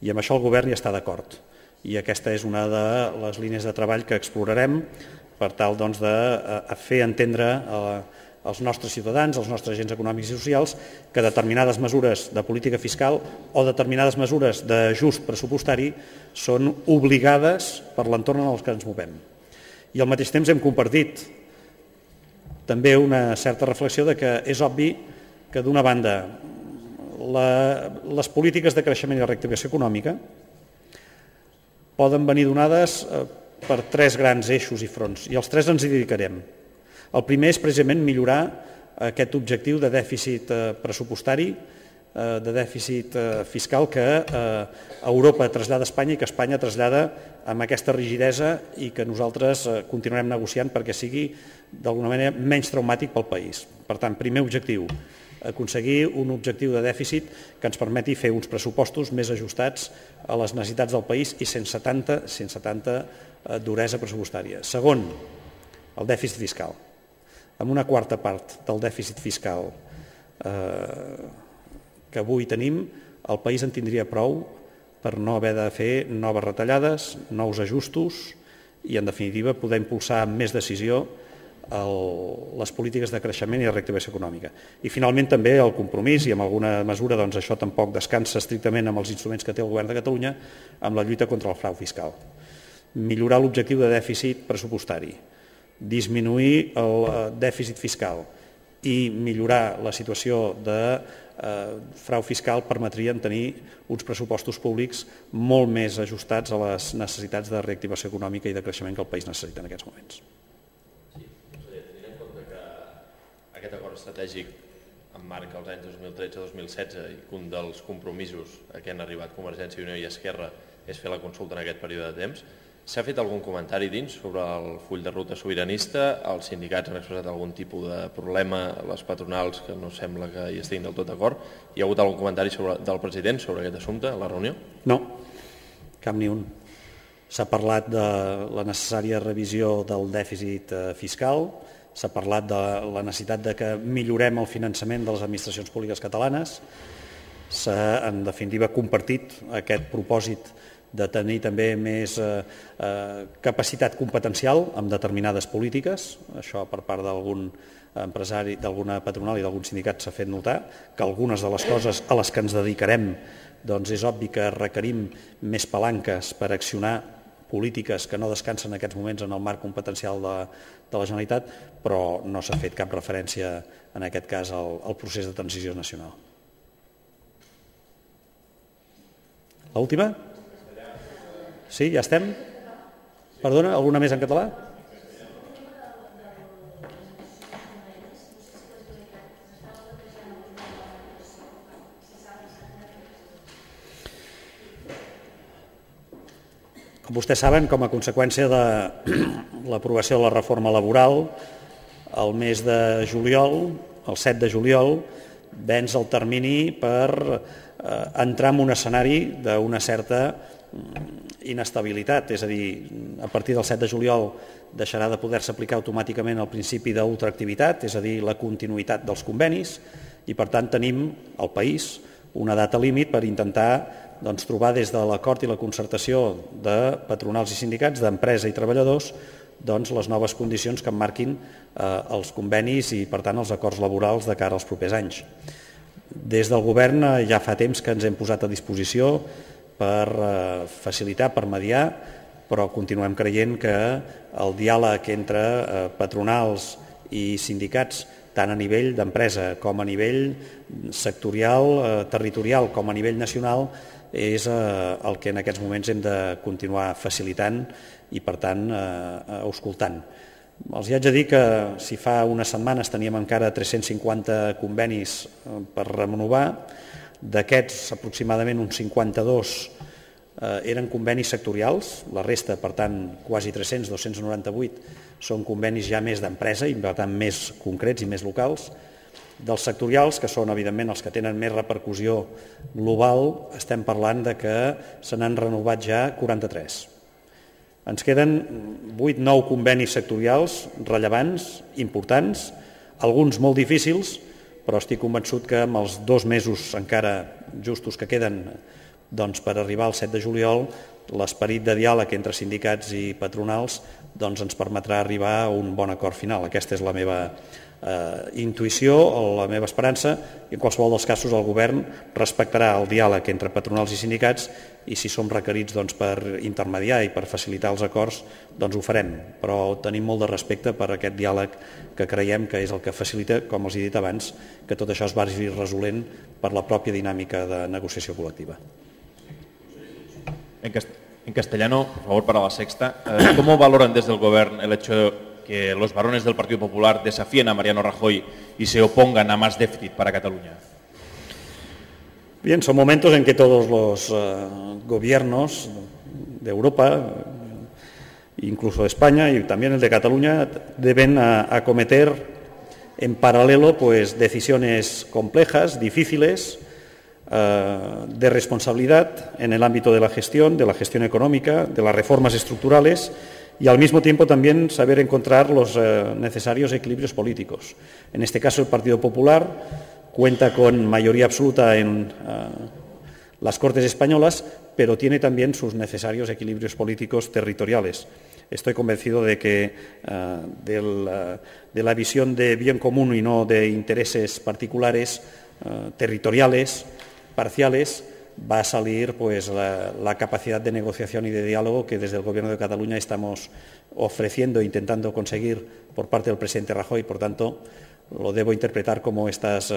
I amb això el govern hi està d'acord. I aquesta és una de les línies de treball que explorarem per tal doncs, de fer entendre eh, als nostres ciutadans, als nostres agents econòmics i socials, que determinades mesures de política fiscal o determinades mesures d'ajust pressupostari són obligades per l'entorn en el que ens movem. I al mateix temps hem compartit també una certa reflexió de que és obvi que, d'una banda, la, les polítiques de creixement i reactivació econòmica poden venir donades per tres grans eixos i fronts, i els tres ens hi dedicarem. El primer és precisament millorar aquest objectiu de dèficit pressupostari de dèficit fiscal que Europa trasllada a Espanya i que Espanya trasllada amb aquesta rigidesa i que nosaltres continuarem negociant perquè sigui d'alguna manera menys traumàtic pel país. Per tant, primer objectiu, aconseguir un objectiu de dèficit que ens permeti fer uns pressupostos més ajustats a les necessitats del país i sense tanta, sense tanta duresa pressupostària. Segon, el dèficit fiscal. Amb una quarta part del dèficit fiscal que avui tenim, el país en tindria prou per no haver de fer noves retallades, nous ajustos i, en definitiva, poder impulsar amb més decisió les polítiques de creixement i de reactivació econòmica. I, finalment, també el compromís, i en alguna mesura això tampoc descansa estrictament amb els instruments que té el Govern de Catalunya, amb la lluita contra el frau fiscal. Millorar l'objectiu de dèficit pressupostari, disminuir el dèficit fiscal i millorar la situació de frau fiscal permetrien tenir uns pressupostos públics molt més ajustats a les necessitats de reactivació econòmica i de creixement que el país necessita en aquests moments. Sí, conseller, tenint en compte que aquest acord estratègic emmarca els anys dos mil tretze dos mil setze i que un dels compromisos a què han arribat Convergència i Unió i Esquerra és fer la consulta en aquest període de temps, s'ha fet algun comentari dins sobre el full de ruta sobiranista? Els sindicats han expressat algun tipus de problema, les patronals, que no sembla que hi estiguin del tot d'acord. Hi ha hagut algun comentari del president sobre aquest assumpte a la reunió? No, cap ni un. S'ha parlat de la necessària revisió del dèficit fiscal, s'ha parlat de la necessitat de que millorem el finançament de les administracions públiques catalanes, s'ha, en definitiva, compartit aquest propòsit de tenir també més capacitat competencial amb determinades polítiques. Això per part d'algun empresari, d'alguna patronal i d'algun sindicat s'ha fet notar, que algunes de les coses a les que ens dedicarem és obvi que requerim més palanques per accionar polítiques que no descansen en aquests moments en el marc competencial de la Generalitat, però no s'ha fet cap referència en aquest cas al procés de transició nacional. L'última? Sí, ja estem? Perdona, alguna més en català? Com vostès saben, com a conseqüència de l'aprovació de la reforma laboral, el mes de juliol, el set de juliol, venç el termini per entrar en un escenari d'una certa inestabilitat, és a dir, a partir del set de juliol deixarà de poder-se aplicar automàticament el principi d'ultraactivitat, és a dir, la continuïtat dels convenis, i per tant tenim al país una data límit per intentar trobar des de l'acord i la concertació de patronals i sindicats, d'empresa i treballadors, les noves condicions que emmarquin els convenis i, per tant, els acords laborals de cara als propers anys. Des del govern ja fa temps que ens hem posat a disposició per facilitar, per mediar, però continuem creient que el diàleg entre patronals i sindicats, tant a nivell d'empresa com a nivell sectorial, territorial, com a nivell nacional, és el que en aquests moments hem de continuar facilitant i, per tant, auscultant. Els haig de dir que si fa unes setmanes teníem encara tres-cents cinquanta convenis per renovar, d'aquests aproximadament uns cinquanta-dos eren convenis sectorials, la resta, per tant, quasi tres-cents, dos-cents noranta-vuit, són convenis ja més d'empresa i, per tant, més concrets i més locals. Dels sectorials, que són, evidentment, els que tenen més repercussió global, estem parlant de que se n'han renovat ja quaranta-tres. Ens queden vuit nou convenis sectorials rellevants, importants, alguns molt difícils, però estic convençut que amb els dos mesos encara justos que queden per arribar al set de juliol, l'esperit de diàleg entre sindicats i patronals ens permetrà arribar a un bon acord final. Aquesta és la meva intuïció o la meva esperança, i en qualsevol dels casos el govern respectarà el diàleg entre patronals i sindicats, i si som requerits per intermediar i per facilitar els acords, doncs ho farem, però tenim molt de respecte per aquest diàleg que creiem que és el que facilita, com els he dit abans, que tot això es vagi resolent per la pròpia dinàmica de negociació col·lectiva. En castellano, por favor, para la sexta, ¿cómo valoran desde el gobierno el hecho de que los varones del Partido Popular desafíen a Mariano Rajoy y se opongan a más déficit para Cataluña? Bien, son momentos en que todos los uh, gobiernos de Europa, incluso de España y también el de Cataluña, deben uh, acometer en paralelo pues, decisiones complejas, difíciles, uh, de responsabilidad en el ámbito de la gestión, de la gestión económica, de las reformas estructurales y al mismo tiempo también saber encontrar los uh, necesarios equilibrios políticos. En este caso el Partido Popular cuenta con mayoría absoluta en uh, las Cortes españolas, pero tiene también sus necesarios equilibrios políticos territoriales. Estoy convencido de que uh, del, uh, de la visión de bien común y no de intereses particulares, uh, territoriales, parciales, va a salir pues, la, la capacidad de negociación y de diálogo que desde el Gobierno de Cataluña estamos ofreciendo e intentando conseguir por parte del presidente Rajoy. Por tanto, lo debo interpretar como estas uh,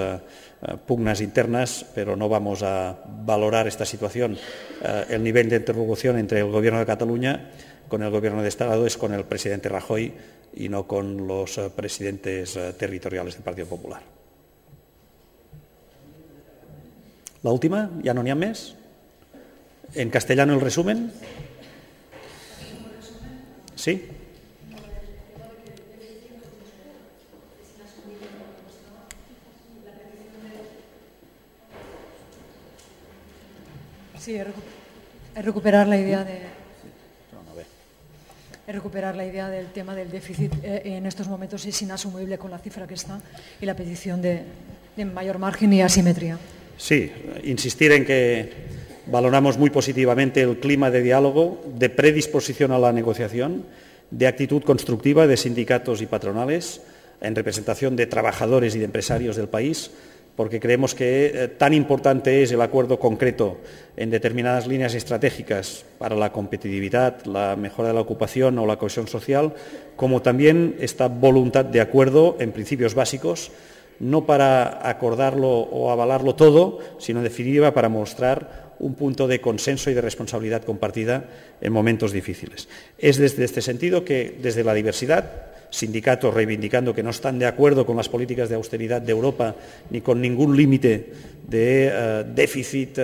uh, pugnas internas, pero no vamos a valorar esta situación. Uh, el nivel de interlocución entre el Gobierno de Cataluña con el Gobierno de Estado es con el presidente Rajoy y no con los uh, presidentes uh, territoriales del Partido Popular. La última, ¿ya no n'hi ha més? ¿En castellano el resumen? ¿Sí? Sí, es recuperar la idea de es recuperar la idea del tema del déficit. Eh, en estos momentos es inasumible con la cifra que está y la petición de, de mayor margen y asimetría. Sí, insistir en que valoramos muy positivamente el clima de diálogo, de predisposición a la negociación, de actitud constructiva de sindicatos y patronales en representación de trabajadores y de empresarios del país, porque creemos que eh, tan importante es el acuerdo concreto en determinadas líneas estratégicas para la competitividad, la mejora de la ocupación o la cohesión social, como también esta voluntad de acuerdo en principios básicos, no para acordarlo o avalarlo todo, sino en definitiva para mostrar un punto de consenso y de responsabilidad compartida en momentos difíciles. Es desde este sentido que, desde la diversidad, sindicatos reivindicando que no están de acuerdo con las políticas de austeridad de Europa ni con ningún límite de uh, déficit uh,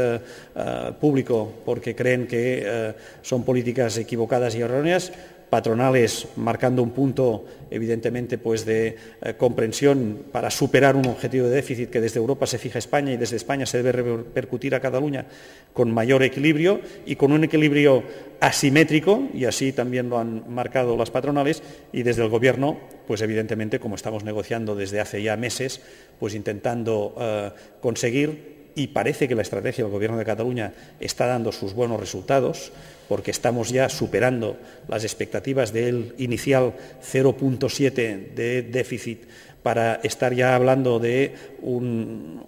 uh, público porque creen que uh, son políticas equivocadas y erróneas, patronales marcando un punto evidentemente pues de eh, comprensión para superar un objetivo de déficit que desde Europa se fija España y desde España se debe repercutir a Cataluña con mayor equilibrio y con un equilibrio asimétrico, y así también lo han marcado las patronales, y desde el Gobierno pues evidentemente como estamos negociando desde hace ya meses pues intentando eh, conseguir, y parece que la estrategia del Gobierno de Cataluña está dando sus buenos resultados, porque estamos ya superando las expectativas del inicial cero coma siete de déficit para estar ya hablando de un,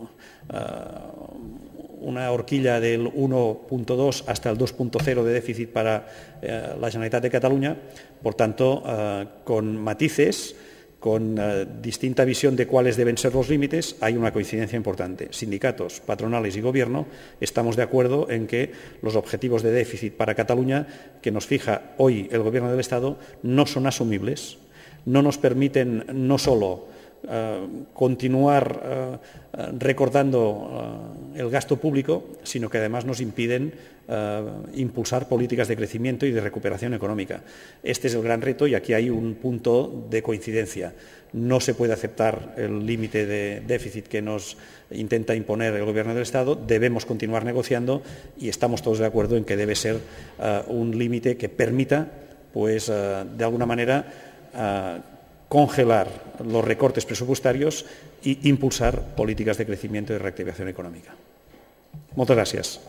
uh, una horquilla del uno coma dos hasta el dos coma cero de déficit para uh, la Generalitat de Cataluña. Por tanto, uh, con matices, con uh, distinta visión de cuáles deben ser los límites, hay una coincidencia importante. Sindicatos, patronales y Gobierno estamos de acuerdo en que los objetivos de déficit para Cataluña que nos fija hoy el Gobierno del Estado no son asumibles, no nos permiten no solo uh, continuar uh, recortando uh, el gasto público, sino que además nos impiden Uh, impulsar políticas de crecimiento y de recuperación económica. Este es el gran reto y aquí hay un punto de coincidencia. No se puede aceptar el límite de déficit que nos intenta imponer el Gobierno del Estado, debemos continuar negociando y estamos todos de acuerdo en que debe ser uh, un límite que permita, pues, uh, de alguna manera, uh, congelar los recortes presupuestarios e impulsar políticas de crecimiento y de reactivación económica. Muchas gracias.